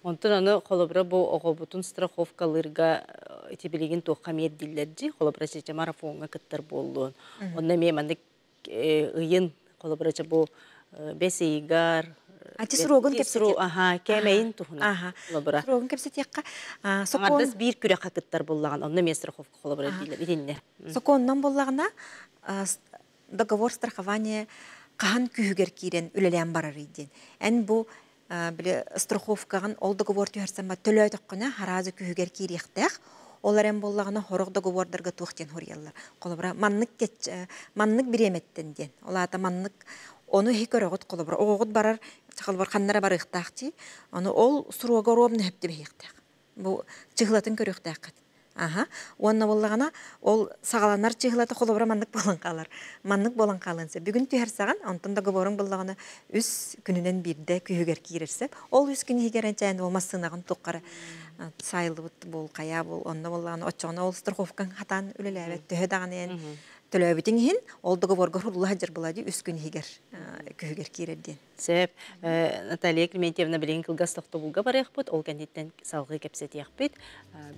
Онтон аны холобура бу оҕобутун страховкалырга эти билигин туохха миэрдиллэрдьи, холобура чече марафонга кыттар боллуун. Онно ме маннык ыйын холобурача бу бес ыйгар Ати срогун кепсетиек. Аха, кэмэйин тухуна. Холобура. Срогун кепсетиекка. Сокон бир күрэ хакыттар боллаган, онно мен страховка холобура дилер итинне. Соконнан боллагана договор страхования кахан күүгер кирен үлелән барар иден. Эн бу биле страховкаган ол договор түһәрсән ба төлөйтөккөнө харазы күүгер кириэхтэх. Олар эм боллагына хорог договордарга туохтен хорьяллар. Колобра маннык кеч, маннык биреметтен ден. Олата маннык ону хи көрөгөт колобра огогот барар, чакалбар ханнара барыктаакчы. Аны ол суруга ровно хепти бехтак. Бу чыгылатын көрөктаакат. Аха, онна боллагана ол сагаланар чыгылаты колобра маннык болан калар. Маннык болан калынса. Бүгүн түһәр саган, онтон договорың боллагана үс күнүнөн бирде күйүгер кирерсе, ол үс күн хигерен чайын ол массынагын туккара сайылыбыт бул кая бул онна боллагана очоно ол страховкаң хатан үлеләбет төһө даган төлөбүтүң иһин ол договорго хурулла жыр булади үс күн хигер күһүгер кирерден. Сеп Наталья Клементьевна билин кылгас тохтобулга барыахпыт, ол кэнниттен салгыы кэпсэтиэхпит.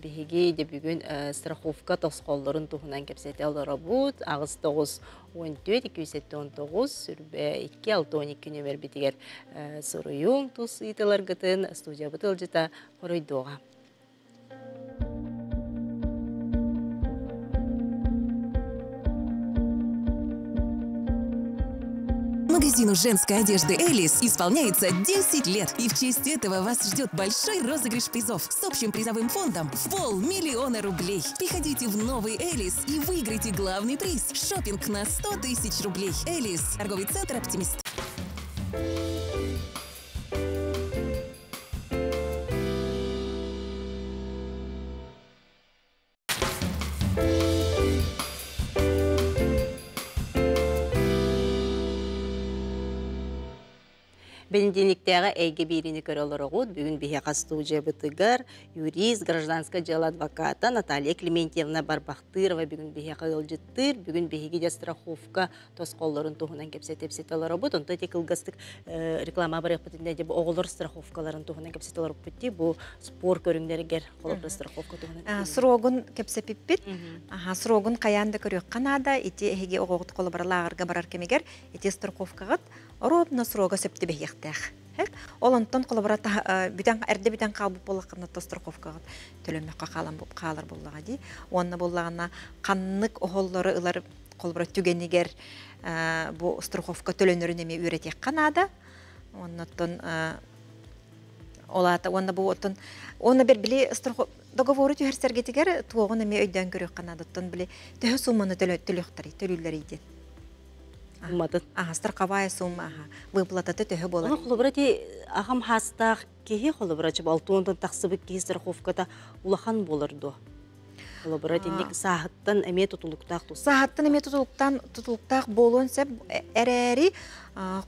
Биһиги де бүгүн страховка тосқоллорун туһунан кэпсэте олоробут. Агыс тоғыз он төрт, екі жүз он тоғыз, сүрбэ икки алты он икки нөмер битигер суруйуң тус ыйтыларгытын студия бытылжыта хоруйдуоға. Магазину женской одежды «Элис» исполняется десять лет. И в честь этого вас ждет большой розыгрыш призов с общим призовым фондом в полмиллиона рублей. Приходите в новый «Элис» и выиграйте главный приз – шопинг на сто тысяч рублей. «Элис» – торговый центр «Оптимист». Бенедиктеға әйге бирини көрөлөрөгүт бүгүн биһиэхэ студиябытыгар юрист, гражданское дело адвоката Наталья Клементьевна Барбахтырова бүгүн биһиэхэ ыалдьыттыыр, бүгүн биһиги дьэ страховка тосхоллорун туһунан кэпсэтэ олоробут. Онто ити кылгастык реклама барыахпытын дьэ бу оҕолор страховкаларын туһунан кэпсэтэ олороппут дии, бу спор көрүҥнэригэр холобура страховка туһунан. Срогун кэпсэпиппит. Аха, срогун хайаан да көрүөххэ наада, ити эһиги оҕоҕут холобура лааҕырга барар кэмигэр ити страховкаҕыт ровно срога сөптүбэһиэхтээх. Ол онтон холобура бүтэн эрдэ бүтэн хаалбыт буоллаххына то страховкаҕыт төлөммөккө хаалан хаалар буоллаҕа дии. Уонна буоллаҕына ханнык оһоллору ылар холобура түгэнигэр бу страховка төлөнөрүн эмиэ үөрэтиэххэ наада. Оннотон олаата уонна бу оттон уонна бер били страхов договору түһэрсэргитигэр туоҕун эмиэ өйдөөн көрүөххэ наада. Оттон били төһө сумманы төлүөхтэрий төлүүллэрий диэн. Умматын. Аха, страховая сумма, аха, выплататы төһө болар. Оны холобура ти ахам хастаах киһи холобура чып алтуонтан тахсыбыт киһи страховката улахан болар дуо? Холобура тинник саахыттан эмиэ тутулуктаах тус. Саахыттан эмиэ тутулуктан тутулуктаах буолуон сөп эрээри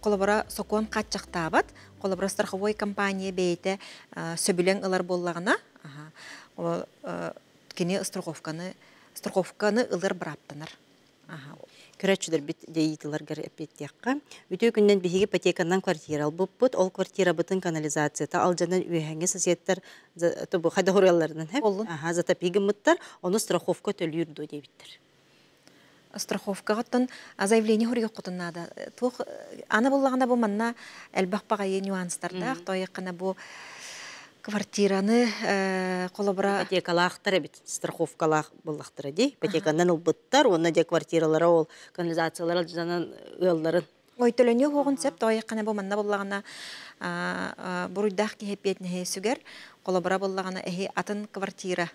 холобура сокуон хааччахтаабат. Холобура страховой компания бэйэтэ сөбүлэҥ ылар буоллаҕына, аха, кини страховканы страховканы ылар бырааптанар. Аха. Көрөччүлэр бит дейитиларгар эппиэттиэххэ. Үтүө күннэн биһиги ипотеканан квартира албыппыт, ол квартира бытын канализацията алдьанан үөһэҥҥэ соседтар тобу хайда хоруйалларынан хэп. Аха, затопигыммыттар, ону страховка төлүүр дуо диэбиттэр. Страховкаҕыттан заявление хоруйуоххутун наада. Туох аны буллаҕына бу манна элбэх баҕайы нюанстардаах, тойыққана бу квартираны холобура ипотекалаахтар эбит, страховкалаах буллахтара дии. Ипотеканан ылбыттар, уонна дьэ квартиралара ол канализациялар алдьанан ыалларын. Ой, төлөнүө хуоҕун сөп, тойыққана бу манна буллаҕына буруйдаах киһи эппиэтинэһи сүгэр, холобура буллаҕына эһи атын квартира.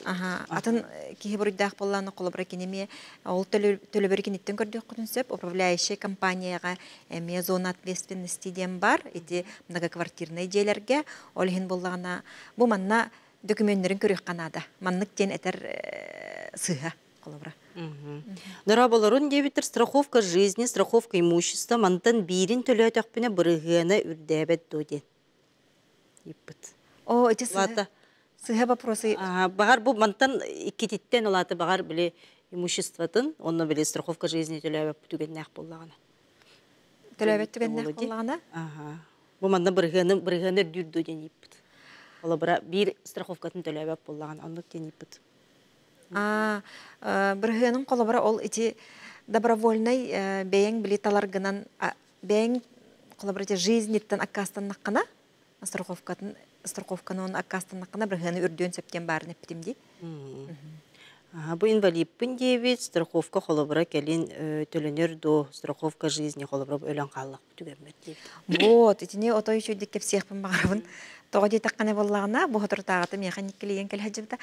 Аха, атын киһи буруйдаах буллаҕына холобура кинеми ол төлөбөр киниттен көрдүөххүтүн сөп, управляющая компанияга эмиэ зона ответственности диэн бар, ити многоквартирный дьиэлэргэ, ол иһин буллаҕына бу манна документтерин көрүөххэ наада. Маннык диэн этэр сыыһа холобура. Дораболорун диэбиттэр страховка жизни, страховка имущества мантан биирин төлөөтөхпүнэ бырыһыана үрдээбэт дуо диэн. Иппыт. О, эти сыһа сыһа вопросы. Багар бу мантан иккититтен олааты багар били имуществотын, онно били страховка жизни төлөөбөт түгэннээх буоллаҕына. Төлөөбөт түгэннээх буоллаҕына? Аха. Бу манна бырыһыаны бырыһыаны үрдүүр дуо диэн иппыт. Олобура биир страховкатын төлөөбөт буоллаҕына, оннук диэн иппыт. А, бырыһыанын холобура ол ити добровольный бэйэҥ били таларгынан бэйэҥ холобура ити жизниттен аккаастаннаххына страховкатын страховканы он аккаастаннаххына бырыһыаны үрдүөн сөптен баарын эппитим дии. Бу инвалидпын диэбит страховка холобура кэлин төлөнөр до страховка жизни холобура өлөн хааллах түгэммэр диэбит. Вот, итини отой үчүгдүк кэпсиэхпин баҕарабын. Тоҕо диэтэххинэ буоллаҕына, бу хоторутааҕыта миэхэ никкилийэн кэлэһэдьибитэ.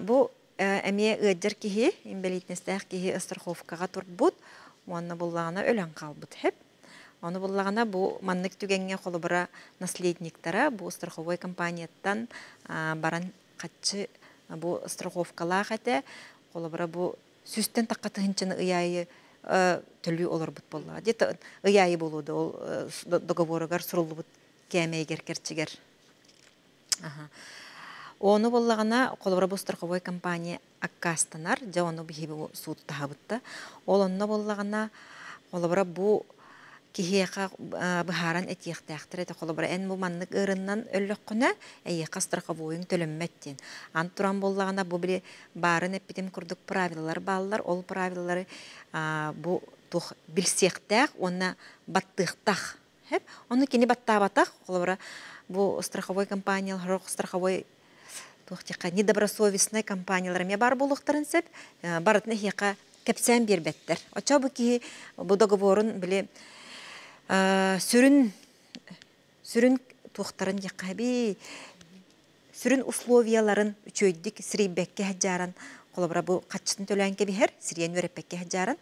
Бу эмиэ ыаддьар киһи, инвалидностаах киһи страховкаҕа турбут, уонна буллаҕына өлөн хаалбыт хэп. Ону буллаҕына бу маннык түгэҥҥэ холобура наследниктара бу страховой компанияттан баран хаччы бу страховкалаах этэ, холобура бу сүстэн таққа тыһынчыны ыйаайы төлүү олорбут буоллаҕа. Где-то ыйаайы буолуоду ол договоругар суруллубут кээмэйгэр керчигэр. Аха. Оны боллаҕына холобура бу страховой компания аккаастанар, дьэ ону биһиги бу суут таһабытта. Ол онно боллаҕына холобура бу киһиэхэ быһааран этиэхтээхтэр этэ холобура эн бу маннык ыырыннан өллөххүнэ эйиэхэ страховойуҥ төлөммөт диэн. Ан туран боллаҕына бу били баарын эппитим курдук правилалар бааллар, ол правилалары бу туох билсиэхтээх уонна баттыахтаах. Хэп, ону кини баттаабатах, холобура бу страховой компаниялар, страховой туох тиэхэ недобросовестный компаниялар эмиэ бар буолуохтарын сөп, барытын эһиэхэ Кепсен бир беттер. Очо бу ки бу договорун биле сүрүн сүрүн туохтарын якаби сүрүн условияларын үчөйдик сирийбекке хаджаран холобра бу каччытын төлөөн кебихер сириен өреппекке хаджаран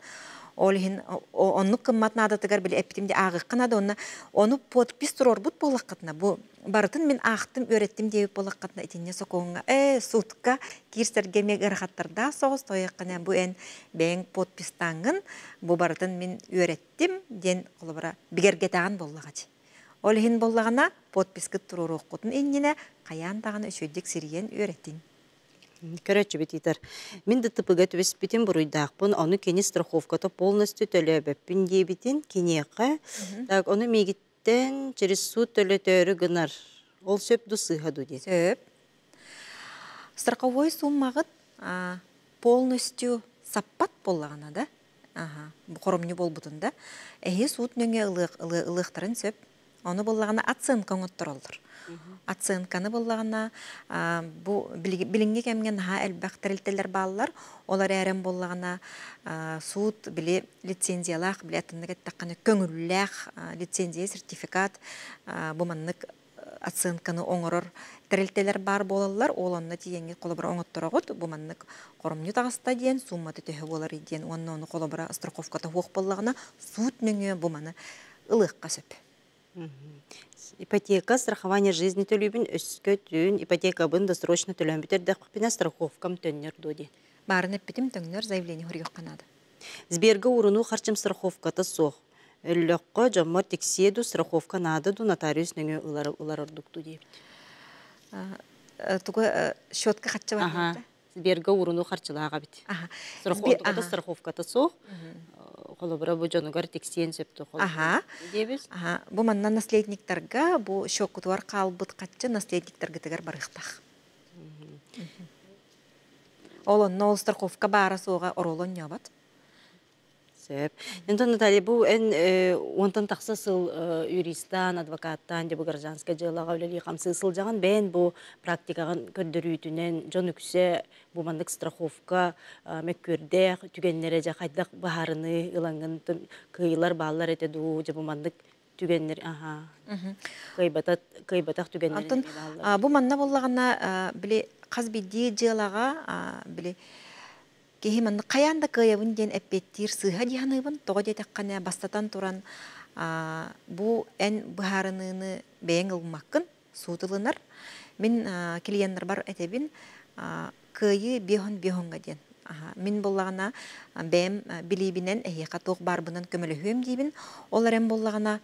ол иһин оннук кыммат наадатыгар били эптимди агыккына да онна ону подпись турорбут боллаккатына бу барытын мен аахтым өреттим диэбит боллаккатына итинне сокоңга э сутка кирсерге мег ырахаттарда соҕус тояккана бу эн бэйэҥ подпистаангын бу барытын мен өреттим диэн холобра бигергетаан боллагачы. Ол иһин боллагана подпискыт туруруохкутун иннинэ каяан даҕаны үчүйдик сириен өреттин. Көрөчү бититер. Мин ДТП-га түбеспитин буруйдаахпын, ону кини страховката полностью төлөбөппүн диэбитин киниэхэ. Так, ону миигиттен через суд төлөтөөрү гынар. Ол сөп ду сыыха ду диэн. Сөп. Страховой суммагыт полностью саппат боллагана да. Ага, бу хоромню болбутун да. Эһи суут нөҥө ылыахтарын сөп. Ону боллагана оценка оҥоттороллор. Оценканы боллагана бу билиңге кемген ха элбэх терилтелер бааллар. Олар эрен боллагана суут били лицензиялаах били атыннык эттакканы көңүллээх лицензия сертификат бу маннык оценканы оҥорор терилтелер бар болаллар. Ол онно тиеңги колобура оҥотторогут бу маннык хоромню таҕаста диэн сумматы төһө болар диэн уонна ону колобура страховката хуох боллагана суут нөҥүө бу маны ылыахха сөп. Ипотека, страхование жизни төлүүбүн өскө түүн ипотекабын досрочно төлөөн бүтэрдэхпинэ страховкам төннөр дуо диэн. Баарын эппитим төҥнөр заявление хоруйуохха наада. Сберга уруну харчым страховката суох. Өллөххө дьоммор тиксиэ ду страховка наада ду нотариус нөҥүө ылар ылар ордук ду диэбит. Тугу счетка хачча бар. Сберга уруну харчылааҕа бит. Страховката страховката суох. Холобура бу дьонугар тиксиэн сөптө Аха. диэбит. Аха. Бу манна наследниктарга бу счёккутугар хаалбыт хаччы наследниктаргытыгар барыахтаах. Ол онно ол страховка баара суоҕа оролон ньобот. Сөп. Онтон Наталья, бу эн уонтан тахса сыл юристан, адвокаттан, дьэ бу гражданскай дьыалаҕа үлэлии хамсыы сылдьаҕын бэйэн бу практикаҕын көрдөрүүтүнэн дьон үксэ бу маннык страховка мөккүөрдээх түгэннэрэ дьэ хайдах баһаарыны ылаҥҥын кыйылар бааллар этэ дуу дьэ бу маннык түгэннэр аха кыйбатат кыйбатах түгэннэр Антон бу манна боллаҕына били хас бидии дьыалаҕа били киһи манны каян да кыайабын диэн эппиэттиир сыыһа диһаныыбын тоҕо диэтэххинэ бастатан туран бу эн быһаарыныыны бэйэҥ ылмаккын суутылынар мин клиеннер бар этэбин кыайыы биэһон биэһоҥҥа диэн мин боллаҕына бэйэм билиибинэн эһиэхэ туох баарбынан көмөлөһүөм диибин ол эрэн боллаҕына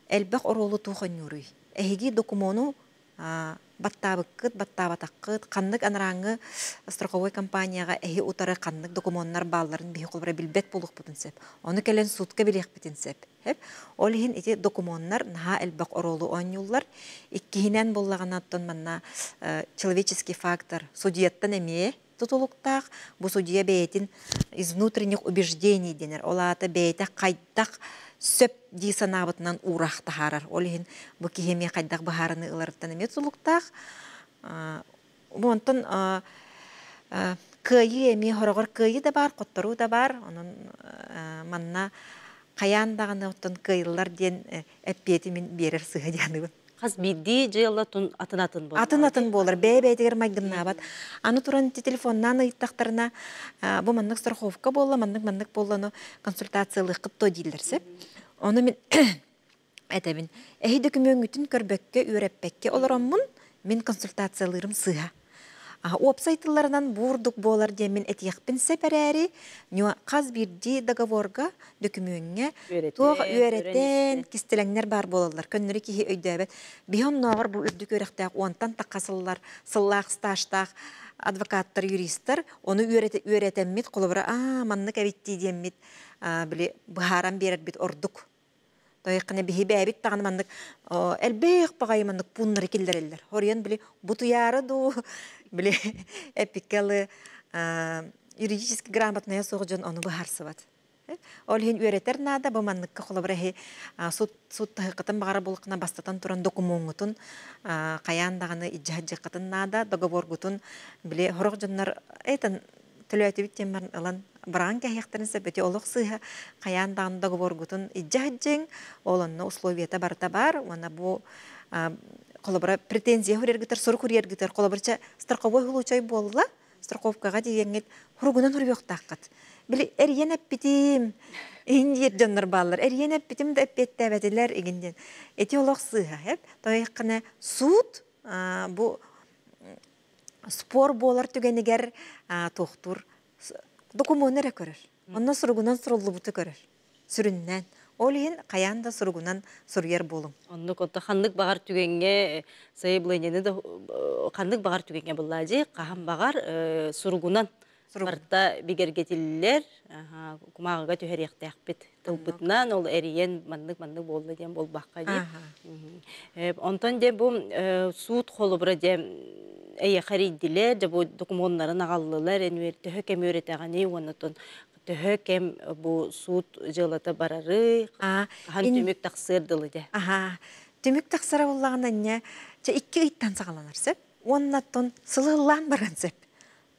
элбэх оруолу туохонньууруй эһиги докумуону баттаабыккыт баттаабатаккыт ханнык анарааҥҥы страховой компанияҕа эһи утары ханнык докумуоннар баалларын биһи холобура билбэт буолуохпутун сөп. Ону кэлэн сутка билиэхпитин сөп. Хеп. Ол иһин ити докумуоннар наһаа элбэх оруолу оонньууллар. Иккиһинэн боллаҕынаттан манна человеческий фактор судьяттан эмиэ тутулуктаах бу судья бэйэтин из внутренних убеждений денер. Ол аата бэйэтэ хайдах сөп дии санаабытынан уураах таһаарар. Ол иһин бу киһи хайдах баһаарыны ыларыттан эмиэ тутулуктаах. Бу онтон кыайыы эмиэ хороҕор кыайыы да бар, хотторуу да бар. Онон манна хайаан даҕаны оттон кыайыллар диэн эппиэти мин биэрэр сыһа дианыбын. Хас бидди дьыала тун атын атын болар. Атын атын болар, бэйэ-бэйэтигэр майгыннаабат. Аны туран телефоннаан ыйыттахтарына бу маннык страховка буолла, маннык маннык буоллану консультациялыаххыт то дииллэр сөп. Ону мин этэбин. Эһи дөкүмөҥҥүтүн көрбөккө, үөрэппэккэ олороммун мин консультациялыырым сыыһа. Уопсайтылларынан буурдук буолар диэн мин этиэхпин сэпэрээри, хас биирдии договорга дөкүмүөҥҥэ туох үөрэтэн кистэлэҥнэр бар буолаллар. Көннөрү киһи өйдөөбөт. Биһи оннооҕор бу үрдүк үөрэхтээх уонтан тахха сыллар, сыллаах стажтаах адвокаттар, юристар ону үөрэтэммит холобура аа маннык эбиттии диэммит били быһааран биэрэрбит ордук. Тойыққына биһи бэбит тағаны маннык элбэх багай маннык пуннары киллереллер. Хорион били бутуяры ду били эпикалы юридически грамотная суох дьон ону быһаарсыбат. Ол иһин үөрэтэр наада бу манныкка холобура эһи суут суут таһыккытын баҕара булуккuna бастатан туран докумуоҥҥутун хайаан даҕаны ижжаһаджыккытын наада договоргутун били хорох дьоннор этэн төлөөтүбүт диэн баран ылан Баран кәһиэхтэрин сөп, эти олох сыыһа хайаан даҕаны договоргутун илдьэ сылдьыҥ, ол онно условията барыта баар, уонна бу холобура претензия хурергытар, сурук хурергытар, холобурча страховой случай буолла, страховкаҕа тиийэҥҥит хуругунан хуруйуохтааххыт. Били эрийэн эппитим, иһин диир дьоннор бааллар, эрийэн эппитим да эппиэттээбэтилэр игин диэн. Эти олох сыыһа, эп, тойыққына суут бу спор буолар түгэнигэр туохтуур докумуону эрэ көрөр. Онно суругунан суруллубуту көрөр. Сүрүннээн. Ол иһин хайаан да суругунан суруйар буолуҥ. Оннук онто ханнык баҕар түгэҥҥэ сайабылыанньаны да ханнык баҕар түгэҥҥэ буллаа дии, хаһан баҕар суругунан барта бигэргэтиллэр, кумааҕыга түһэриэхтээхпит тылбытынан, ол эрийэн маннык-маннык буолла диэн буолбакка дии. Онтон де бу суут холобура де эйэхэ эрийдилэр, де бу докумуоннарын аҕаллылар, энүөр төһө кэм үөрэтэҕиний, уоннатон төһө кэм бу суут дьыалата барары, хаһан түмүк тахсыар дылы де. Аха, түмүк тахсара буллаҕына инньэ, чэ икки ыйтан саҕаланар сөп, уоннаттан сылыллаан баран сөп.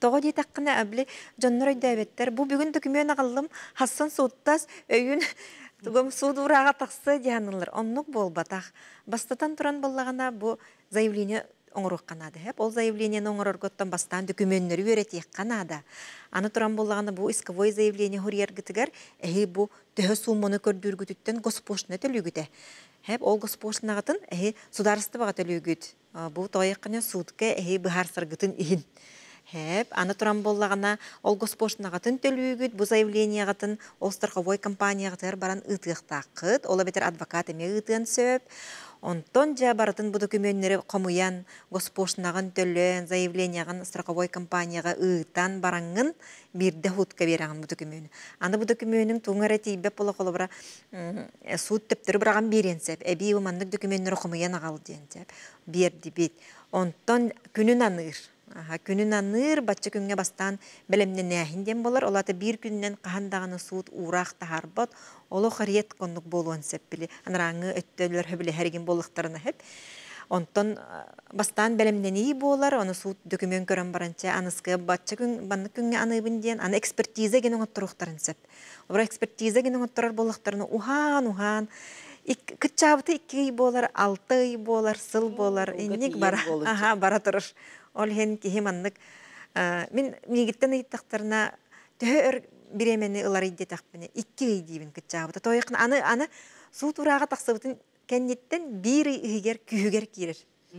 Тоҕо диэтэххинэ, били дьоннор өйдөөбөттөр, бу бүгүн документ аҕаллым, хассан сууттас, өйүн тугум суут урааҕа тахсыа диһанылар. Оннук буолбатах. Бастатан туран буллаҕына бу заявление оҥоруохха наада. Ол заявлениены оҥорорготтон бастаан документнары үөрэтиэххэ наада. Аны туран буллаҕына бу исковой заявление хурияргытыгар эһи бу төһө сумманы көрдүүргүтүттэн госпошлина төлүүгүтэ. Хэп ол госпошлинагытын эһи сударыстыбаҕа төлүүгүт. Бу тоойыққына суутка эһи быһаарсаргытын иһин. Хэп, аны туран боллаҕына ол госпошлинагытын төлүүгүт, бу заявлениеҕытын ол страховой компанияҕытыгар баран ыытыахтааххыт, ол эбэтэр адвокат эмиэ ыытыан сөп. Онтон дьэ барытын бу документнери хомуйан, госпошлинагын төлөөн, заявлениеҕын страховой компанияҕа ыытан бараҥҥын биирдэ хутка биэрэҕин бу документу. Аны бу документуҥ туҥ эрэ тиийбэт буола холобура, суут төптөрү быраҕан биэриэн сөп. Эбии бу маннык документнери хомуйан аҕал диэн сөп. Биэрдибит. Онтон күнүн аныыр. Аха, күнүн аныыр, бачча күҥҥэ бастаан бэлэмнэнээһин диэн болар. Ол ата биир күнүнэн хаһан даҕаны суут уураах таһаарбат. Олох риэт коннук буолуон сөп били. Анарааҥҥы өттөлөр хөбүлэһэригин буоллахтарына хэп. Онтон бастаан бэлэмнэнии буолар, оны суут документ көрөн баранча аныскы бачча күн баннык күҥҥэ аныыбын диэн, аны экспертиза гин оҥотторуохтарын сөп. Олор экспертиза гин оҥотторор буоллахтарына уһаан, уһаан, кытчаабыты икки ый буолар, алты ый буолар, сыл буолар, инник бара, аха, бара турар. Ол иһин киһи маннык, мин миигиттэн ыйыттахтарына төһө өр бириэмэни ылар диэтэхпинэ, икки ый диибин кытчаабыта. Тойықын аны, аны суут урааҕа тахсыбытын кэнниттэн биир ый иһигэр күүһүгэр киирэр.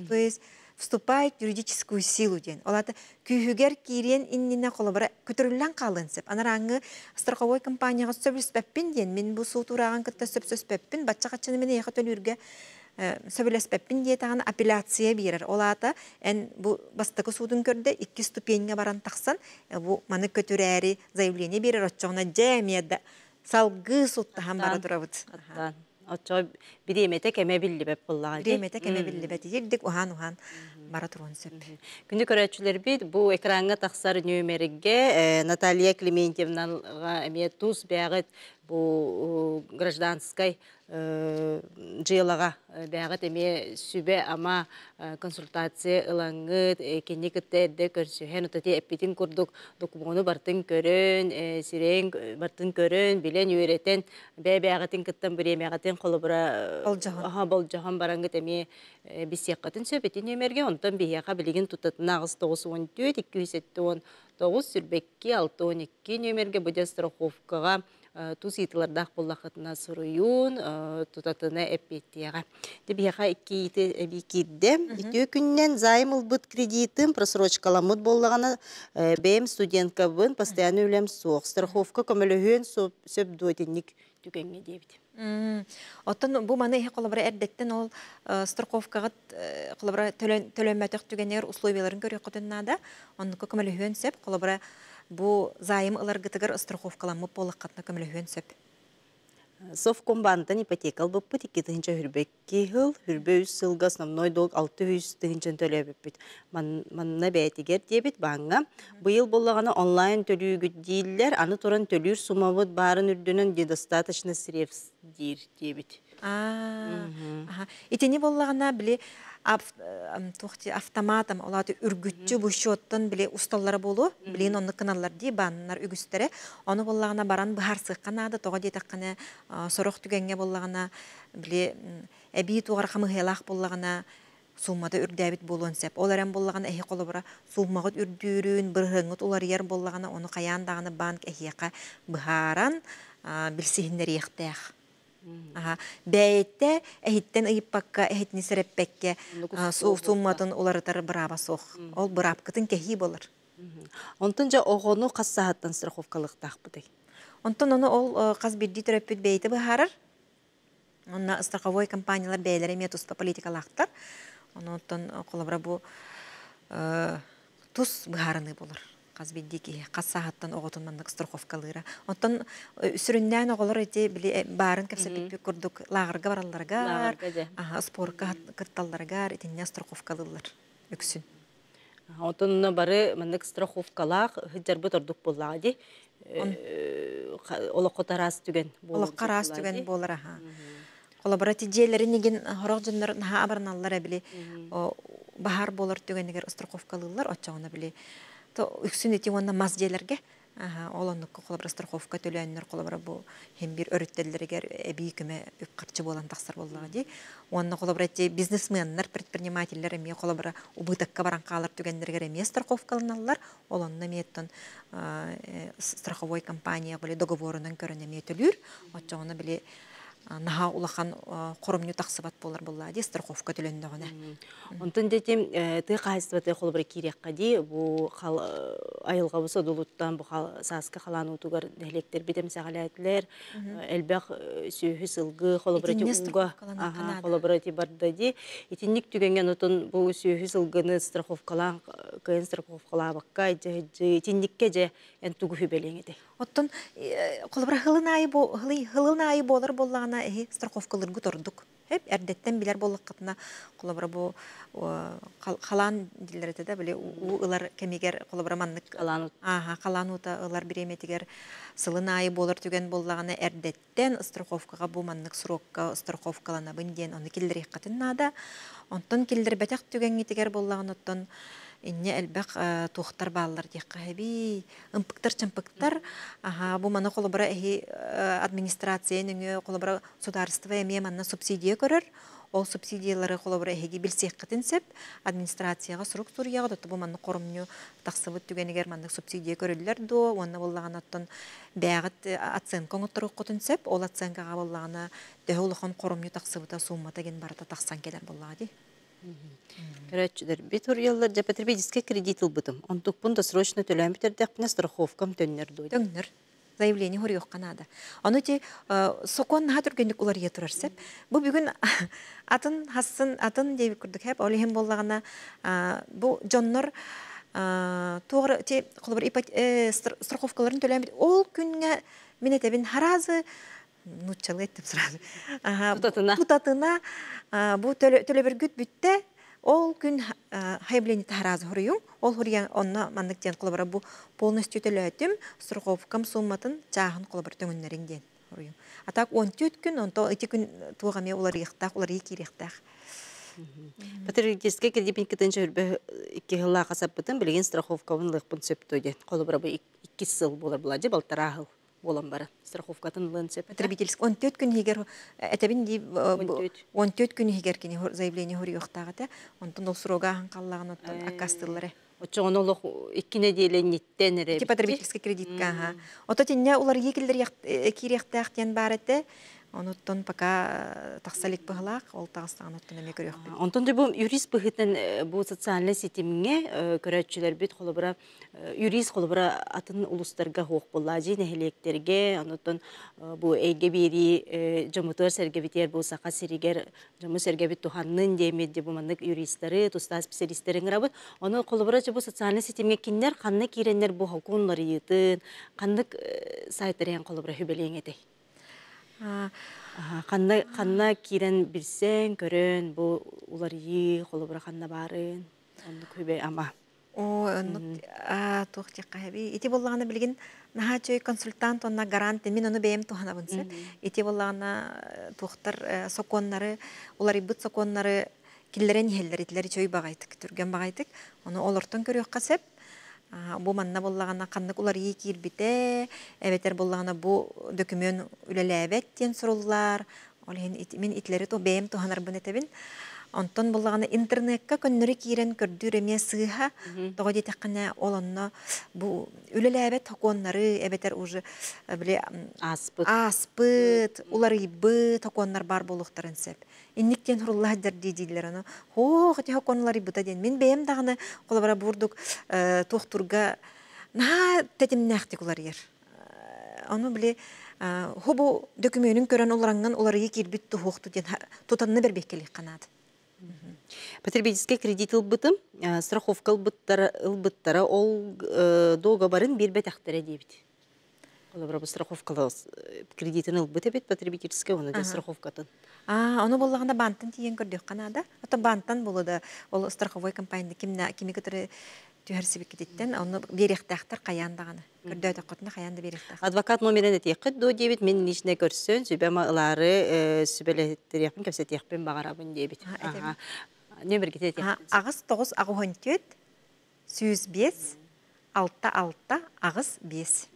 То есть вступает в юридическую силу диэн. Ол ата күүһүгэр киириэн иннинэ холобура көтөрүллэн хаалыан сөп. Анарааҥҥы страховой компанияҕа сөбүлэспэппин диэн, мин бу суут урааҕын кытта сөпсөспөппүн, бачча хаччыны мин эйиэхэ төлүүргэ сөбүлэспэппин диэтэҕин апелляция биэрэр. Ол аата эн бу бастакы суутун көрдө икки ступеньга баран тахсан, бу маны көтүрээри заявление биэрэр оччоҕуна дьэ эмиэ да салгыы суттаһан бара турабыт. Оччо бириэмэтэ кэмэ биллибэт буоллаҕа. Бириэмэтэ кэмэ биллибэт. Ирдик уһаан-уһаан бара туруон сөп. Күндү көрөөччүлэрбит, бу экраҥҥа тахсар нүөмэргэ Наталья Клементьевнаҕа эмиэ тус бэҕит бу гражданскай дьыалаҕа бэҕит эмиэ сүбэ ама консультация ылаҥҥыт, кини кытта эрдэ көрсүһэн, отати эппитин курдук докумуону бартын көрөн, сирэйин бартын көрөн, билэн үөрэтэн, бэйбэҕитин кыттан бириэмэҕитин холобура болдьоһон. Болдьоһон бараҥҥыт эмиэ биссиэххэтин сөп ити нүөмэргэ, онтон биһиэхэ билигин тутатына аҕыс тоҕус уон түөрт, икки жүз сэттэ уон тоҕус, сүрбэкки, алта уон икки нүөмэргэ бу дьэ страховкаҕа тус ыйытылардаах буоллаххытына суруйуун, тутатына эппиэттиэҕэ. Дэ биһиэхэ икки ыйыты эбии киирдэ. Үтүө күннэн займ ылбыт кредитым просрочкаламмыт буоллаҕына, бэйэм студенткабын, постоянно үлэм суох. Страховка көмөлөһүөн сөп дуо итинник түгэҥҥэ диэбит. Оттон бу маны иһи холобура эрдэттэн ол страховкаҕыт холобура төлөммөтөх түгэннэр условияларын көрүөххүтүн наада. Оннукка көмөлөһүөн сөп. Холобура бу займ ыларгытыгар страховкаламмыт буоллаххытына көмөлөһүөн сөп. Совкомбантан ипотека албыппыт икки тыһынча хүрбэкки хыл, хүрбэ үс сылга основной долг алты жүз тыһынчан төлөбүппүт. Манна бээтигэр диэбит бааңҥа. Быйыл боллаҕына онлайн төлүүгүт дииллэр, аны туран төлүүр суммабыт баарын үрдүнэн недостаточно средств диир диэбит. Итини боллаҕына били Автоматом олаты үргүтчү бу счеттан биле усталлара болу, билин онны кыналлар ди баннар үгүстере. Оны боллагына баран быһарсыкка нада тога диэтаккана сорох түгәнгә боллагына биле эби тугар хамыһылах боллагына суммада үрдәбит болуон сеп. Ол эрен боллагана эхи колобура суммагыт үрдүүрүн, бырһыңыт улар ер боллагана оны каян даганы банк эхиэка быһааран билсиһиннер иэхтээх. Аха, бәйетте эхиттен ыйыппакка, эхитни сереппекке сумматын уларытар быраба сох. Ол бырапкытын кехи болар. Онтон жа оҕону хас саһаттан страховкалыктаахпытый? Онтон ону ол хас бирдии төрөппүт бэйти быһаарар. Онна страховой компаниялар бэйлэри эмиэ туспа политикалаахтар. Онтон холобура бу тус быһаарыныы болар. Хас бирдии киһи хас саһаттан оҕотун маннык страховкалыыра. Онтон сүрүннээн оҕолор ити били баарын кэпсэппиппит курдук лааҕырга баралларыгар, аха, спортка кытталларыгар итиннэ страховкалыыллар үксүн. Онтон бары маннык страховкалаах хыджарбыт ордук буоллаҕа дии. Олоххо тараас түгэн болар. Олоххо тараас түгэн болар, аха. Холобура ти дьиэлэрин игин хорох дьоннор наһаа абарналлар били баһар болар түгэнигэр страховкалыыллар оччоҕуна били то үксүн ити уонна мас дьиэлэргэ ол оннукка холобура страховка төлөөннөр холобура бу хем бир өрүттэллэригэр эбии көмө үп харчы буолан тахсар буоллаҕа дии. Уонна холобура ити бизнесменнар, предпринимателлэр эмиэ холобура убытакка баран хаалар түгэннэригэр эмиэ страховкаланаллар. Ол онно эмиэттэн страховой компания били договорунан көрөн эмиэ төлүүр. Оччоҕуна били наһаа улахан хоромню тахсыбат болар булла ди страховка төлөндөҕүнэ. Онтон детим тыы хаһайыстыбаты холобура киириэххэ дии бу айылҕабы содулуттан бу сааска халаан уутугар нэһилиэктэр битем саҕалаатилэр элбэх сүөһү сылгы холобура ти уга холобура ти барда ди итинник түгэҥҥэ отон бу сүөһү сылгыны страховкалаан кыйын страховкалаабакка итинникке же эн тугу хүбэлиэҥ этэй. Оттон холобура хылын айы хылын айы болар боллаҕына эһи страховкалыргы тордук. Хеп эрдеттен билер боллаккытына холобура бу халаан диллерете да били уу ылар кемигер холобура маннык аха халаан ута ылар биреметигер сылын айы болар түген боллагана эрдеттен страховкага бу маннык срокка страховкаланабын диэн ону киллерихкатын наада. Онтон киллер бэтэх түгенгитигер боллаган оттон инне элбэх туохтар бааллар диэххэ хэби ымпыктар чымпыктар аха бу маны холобура эһи администрация нөҥүө холобура государство эмиэ манна субсидия көрөр. Ол субсидиялары холобура эһиги билсиэххитин сеп администрацияга сурук суруйаҕа дотто бу манны хоромню тахсыбыт түгэнигэр маннык субсидия көрүллэр дуо уонна боллаган оттон бэҕит оценка оҥотторуоххутун сеп ол оценкаҕа боллагана төһө улахан хоромню тахсыбыта суммата ген барыта тахсан келер боллаҕа ди. Көрөччүлэр бит уруйаллар же потребительский кредит ылбытым. Онтукпун досрочно төлөөн бүтердэхпинэ страховкам төннөр дуо. Төҥнөр. Заявление хоруйуохха наада. Ону ти сокон наһаа түргэнник уларыйа турар сеп. Бу бүгүн атын хассын атын диэбит курдук хэп. Ол иһин боллагана бу дьоннор тугары ти холобур страховкаларын төлөөн бит. Ол күнгө мин этебин харазы нуччалы эттим сразу. Тутатына. Тутатына бу төлөбөргүт бүттэ. Ол күн хайблени таразы хуруюң. Ол хуруян онна маннык диэн холобура бу полностью төлөөтүм страховкам сумматын чааһын холобура төҥүннэрин диэн хуруюң. А так он түт күн, онто ити күн туоҕа эмиэ уларыйыхтаах, уларыйы киириэхтээх. Потребительский кредит кытынча хүрбэ икки хыллаах хасаппытын билигин страховкабын ылыахпын сөптөө диэн. Холобура бу икки сыл буолар була дьэ балтараа буолан бара страховкатын ылыан сөп. Потребительский он төрт күн иһигэр этэбин ди он төрт күн иһигэр кини заявление хуруйуохтаах этэ. Онтон ол срога ахан халлаҕын оттон аккастыллары. Оччоҕон олох икки неделя ниттен эре. Потребительский кредитка аха. Ото тинне улар киллер кириэхтээх диэн бар этэ. Онуттан пока тахсалик быһылаах, ол тағыстаан оттон эме көрүөхпүт. Онтон да бу юрист быһытын бу социальный ситимҥэ көрөөччүлэр бит холобура юрист холобура атын улустарга хуох буллаажи нэһилиэктерге, онуттан бу эйге бири жомутуар сэргэбитиэр бу саха сиригер жому сэргэбит туханнын диэмит бу маннык юристтары, туста специалистерин ырабыт. Ону холобура бу социальный ситимҥэ киннер ханна кииреннер бу хокунлар ыйытын, ханнык сайттарыан холобура хүбэлиэҥ этэй? Ханна ханна киирен билсен, көрөн, бу уларыйы, холобура ханна барын, оннук хүбэ ама. О, оннук туох диэххэ хэби. Ити боллаҕына билигин наһаа чөй консультант онна гарант мин ону бэйэм туһанабын сеп. Ити боллаҕына туохтар сокуоннары, уларыйбыт сокуоннары Киллерен иһэллэр итилэр үчүгэй баҕайытык, түргэн баҕайытык. Ону олортон көрүөххэ сөп. Бу манна буллаҕына ханнык уларыйыы киирбитэ, эбэтэр буллаҕына бу дөкүмүөн үлэлээбэт диэн суруллар. Ол иһин мин итилэри ту бэйэм туһанарбын этэбин. Онтон буллаҕына интернекка көннөрү киирэн көрдүүр эмиэ сыыһа. Тоҕо диэтэххинэ ол онно бу үлэлээбэт хокуоннары эбэтэр уже били ааспыт ааспыт, уларыйбыт хокуоннар бар буолуохтарын сөп. Инник диэн хуруллаһар дииллэр аны. Хоо, ити хокуон уларыйбыта диэн. Мин бэйэм даҕаны холобура бурдук туохтурга наһаа тэтимнээхтик уларыйар. Ону били хобу дөкүмүөнүн көрөн улараңҥан уларыйы киирбит туһуохту диэн тутанны бэрбиэккэлиэх канаат. Потребительский кредит ылбытым, страховка ылбыттара, ылбыттара ол договорын биэрбэтэхтэрэ диэбит. Олобура бу страховка кредитин ылбыт эбит потребительский, оны да страховкатын. А, ону боллаҕына баантан тиийэн көрдүөххэ наада. Ото баантан болу да ол страховой компания кимна кими кытары түһэрсибиккититтэн ону биэриэхтээхтэр хайаан даҕаны. Көрдөөтөххөтүнэ хайаан да биэриэхтээх. Адвокат номерин этиэххит дуо диэбит, мин лично көрсөн сүбэм ылаары сүбэлэттериэхпин кэпсэтиэхпин баҕарабын диэбит. Нөмергите этиэхпин. Аҕыс тоҕус аҕыс төрт сүүс биэс алта алта аҕыс биэс.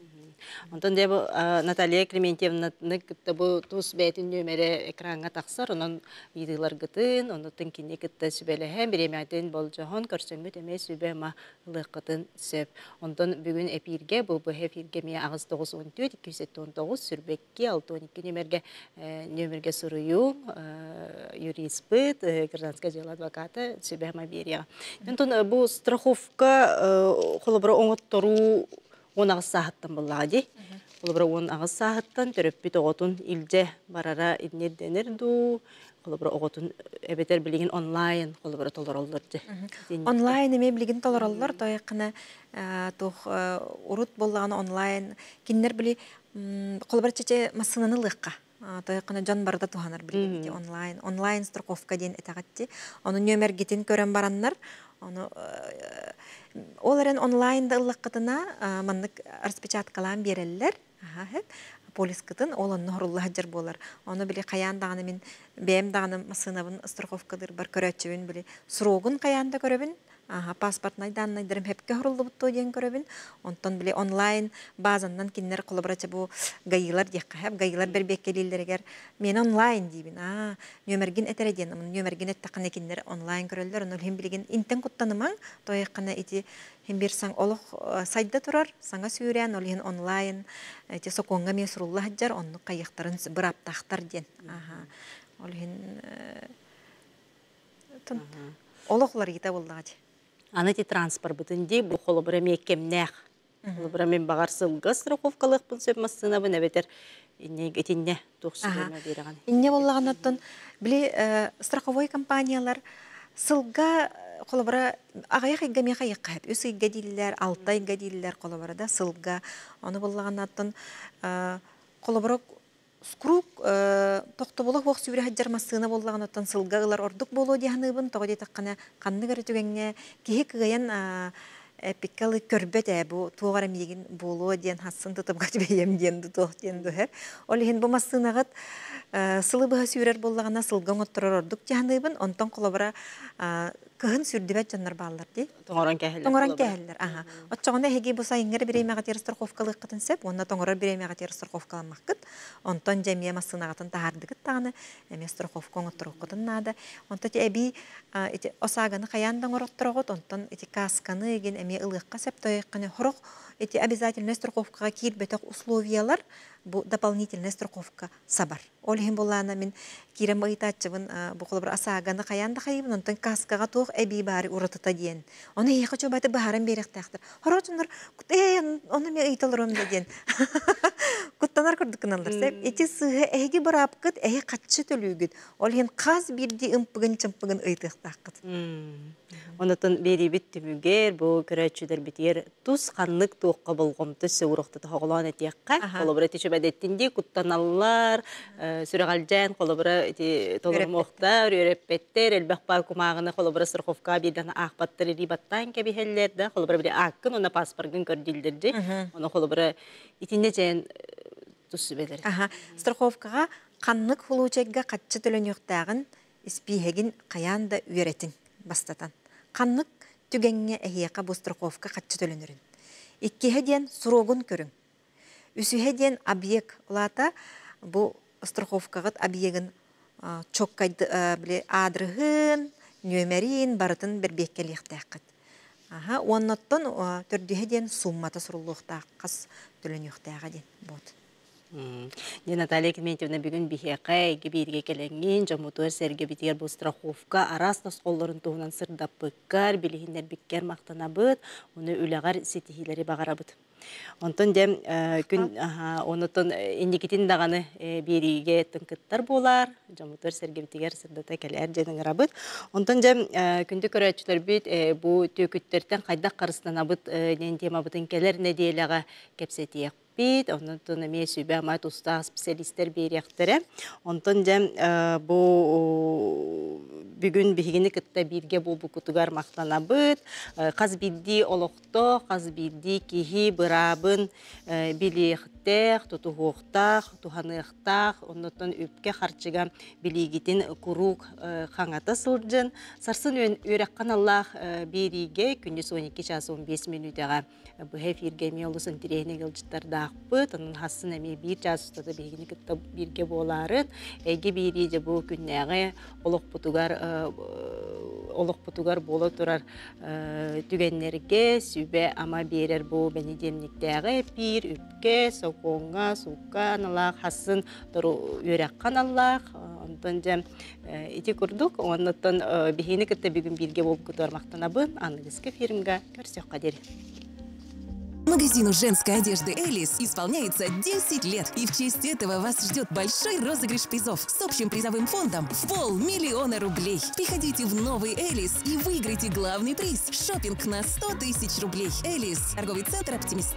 Онтон дьэ бу Наталья Клементьевнаны кытта бу тус бэйэтин нөмере экраҥҥа тахсар, онон ыйытыыларгытын, оннуттан кини кытта сүбэлэһэн, бириэмэҕитин болдьоһон, көрсөҥҥүт эмиэ сүбэ-ама ылыаххытын сөп. Онтон бүгүн эпииргэ, бу быһа эфиргэ эмиэ аҕыс тоҕус уон төрт, икки жүз он тоҕус, сүрбэкки, алта он икки нөмерге, нөмерге суруйуу, юриспыт, гражданское дело адвоката сүбэ-ама биэриэҕэ. Онтон бу страховка холобура оҥотторуу он аҕыс сааһыттан буллаҕа дии. Холобура он аҕыс сааһыттан төрөппүт оҕотун илдьэ барара иннирдэнэр дуу, холобура оҕотун эбэтэр билигин онлайн холобура толороллор дьэ. Онлайн эмиэ билигин толороллор, тойыққына туох урут боллаҕына онлайн кинилэр били холобура чече массыынаны ылыахха. Тойыққына дьон барыта туһанар билигин онлайн. Онлайн страховка диэн этэҕэтти. Ону нөмергитин көрөн бараннар, ону ол эрэн онлайн да ыллаххытына маннык распечаткалаан биэрэллэр. Полискытын ол онно хоруллаһаджар буолар. Ону били хайаан даҕаны мин бэйэм даҕаны массыынабын страховкадыр бар көрөөччүбүн били срогун хайаан да көрөбүн. Аха, паспортнай даннайдарым хепке хоруллубуттуу диэн көрөбүн. Онтон били онлайн базаннан киннер холобурача бу гайылар диэххэ хэп, гайылар бэрбиэккэлииллэригэр мен онлайн диибин. Аа, нөмергин этере диэн, нөмергин эттахына киннер онлайн көрөллөр. Ону хим билигин интен куттанымаң, тойыккана ити хим бир саң олох сайда турар, саңа сүүрэн, ол иһин онлайн ити сокуонга мен сурулла хаджар, онну кайыктарын быраптахтар диэн. Аха, ол иһин олохлар ита боллаҕа. Аны ти транспорт бытын ди бу холобура миэккемнээх. Холобура мен багар сылга страховкалыахпын сөп массыынабын эбэтэр итинне туох сүбэме биэрэҕин. Инне боллаҕынаттан били страховой компаниялар сылга холобура аҕайах ыйга миэхэ ыйыкка үс ыйга дииллэр, алта ыйга дииллэр холобура да сылга. Ону боллаҕынаттан холобура скрук тохтобула хуох сүүрэ хаджар массыына боллаҕынаттан сылга ылар ордук болуо диэханыыбын тоҕо диэтэххинэ ханнык эрэ түгэҥҥэ киһи кыайан эпиккалы көрбөт ээ бу туоҕар эмиигин буолуо диэн хассын тутубга түбэйэм диэн туох диэн дуһэр. Ол иһин бу массыынаҕыт сылы быһа сүүрэр боллаҕына сылга оҥотторор ордук диэханыыбын онтон холобура кыһын сүрдүбэт дьоннор бааллар дии. Тоҥорон кэһэллэр. Тоҥорон кэһэллэр, аха. Оччоҕуна эһиги бу сайыҥҥар бириэмэҕэ страховкалыаххытын сөп, уонна тоҥорор бириэмэҕэ страховкаламмаккыт. Онтон дьэ эмиэ массыынаҕытын таһаардыгыт даҕаны, эмиэ страховка оҥотторуоххутун наада. Онто ити эбии ити ОСАГОны хайаан да оҥороттороҕут, онтон ити касканы эгин эмиэ ылыахха сөп тойохханы хорох ити обязательный страховкаҕа киирбэтэх условиялар бу дополнительная страховка сабар. Ол иһин буллаана мин киирэн ыйытааччыбын бу холобур ОСАГОны хайаан да хайыбын, онтон каскаҕа туох эбии баары уратыта диэн. Ону эһиэхэ чуобаты баһаран биэриэхтээхтэр. Хорочуннар ээ ону мен ыйыталарым да диэн. Куттанар курдук гыналлар. Сеп ити сыһы эһиги быраапкыт эһи хатчы төлүүгүт. Ол иһин хас биирдии ымпыгын чымпыгын ыйытыахтааххыт. Онотон берибит түмүгер бу көрөөччүлэр битиэр тус ханнык туохха болҕомто сөурохта тоһоҕолоон этиэххэ. Холобура ити чүбэдэттин куттаналлар, сүрэҕэлдьээн холобура ити толормуохтар, үөрэппэттэр, элбэх баа кумааҕыны холобура страховка биирдэн аахпаттар илии кэбиһэллэр да, холобура били ааккын уонна паспоргын көрдүллэрди. Ону холобура итинне дьээн тус сүбэлэр. Аха, страховкаҕа ханнык хулуучайга хатчы төлөнүөхтээҕин Испииһэгин хайаан да үөрэтиҥ бастатан. Ханнык түгэҥҥэ эһиэхэ бу страховка хаччы төлөнөрүн. Иккиһэ диэн срогун көрүҥ. Үсүһэ диэн объект улаата бу страховкаҕыт объегын чоккайды били аадырыһын, нүөмэрин барытын бэрбиэккэлиэхтээххит. Аха, уоннаттан төрдүһэ диэн суммата суруллуохтаах, хас төлөнүөхтээҕэ диэн вот. Дьэ Наталья Климентьевна бүгүн биһиэхэ эйгэ бииргэ кэлэҥҥин, дьоммутугар сэргэбитигэр бу страховка араас тосхоллорун туһунан сырдаппыккар, билиһиннэрбиккэр махтанабыт, ону үлэҕэр ситиһиилэри баҕарабыт. Онтон дьэ күн онотон инникитин даҕаны биэриигэ тыҥкыттар буолар, дьоммутугар сэргэбитигэр сырдата кэлээр дьэн ыҥырабыт. Онтон дьэ күндү көрөөччүлэрбит бу түөкүттэртэн хайдах харыстанабыт диэн темабытын кэлэр нэдиэлэҕэ кэпсэтиэх. Онтон эмиэ сүбэ ама тустаах специалистер биэриэхтэрэ. Онтон дьэ бу бүгүн биһигини кытта бииргэ буолбуккутугар махтанабыт. Хас биирдии олохто, хас биирдии киһи быраабын билиэхтээх, тутуһуохтаах, туһаныахтаах, оннуттан үпкэ харчыга билиигитин куруук хаҥата сылдьын. Сарсын үөрэххэ аналлаах биэриигэ күндүз он икки час он биэс мүнүүтэҕэ быһа эфиргэ эмиэ олус интэриэһинэй ыалдьыттардаахпыт. Онон хассын эмиэ биир час устата биһигини кытта бииргэ буолаарын. Эйгэ биирии дьэ бу күннээҕи олохпутугар олохпутугар буола турар түгэннэргэ сүбэ ама биэрэр бу бэнидиэнниктээҕи эпиир үпкэ, сокуоҥҥа, суукка аналаах, хассын тору үөрэххэ аналлаах. Онтон дьэ ити курдук, оннуттан биһигини кытта бүгүн бииргэ буолбуккутугар махтанабын. Аныгыскы эфиримга көрсүөххэ диэри. Магазину женской одежды «Элис» исполняется десять лет. И в честь этого вас ждет большой розыгрыш призов с общим призовым фондом в полмиллиона рублей. Приходите в новый «Элис» и выиграйте главный приз – шопинг на сто тысяч рублей. «Элис» – торговый центр «Оптимист».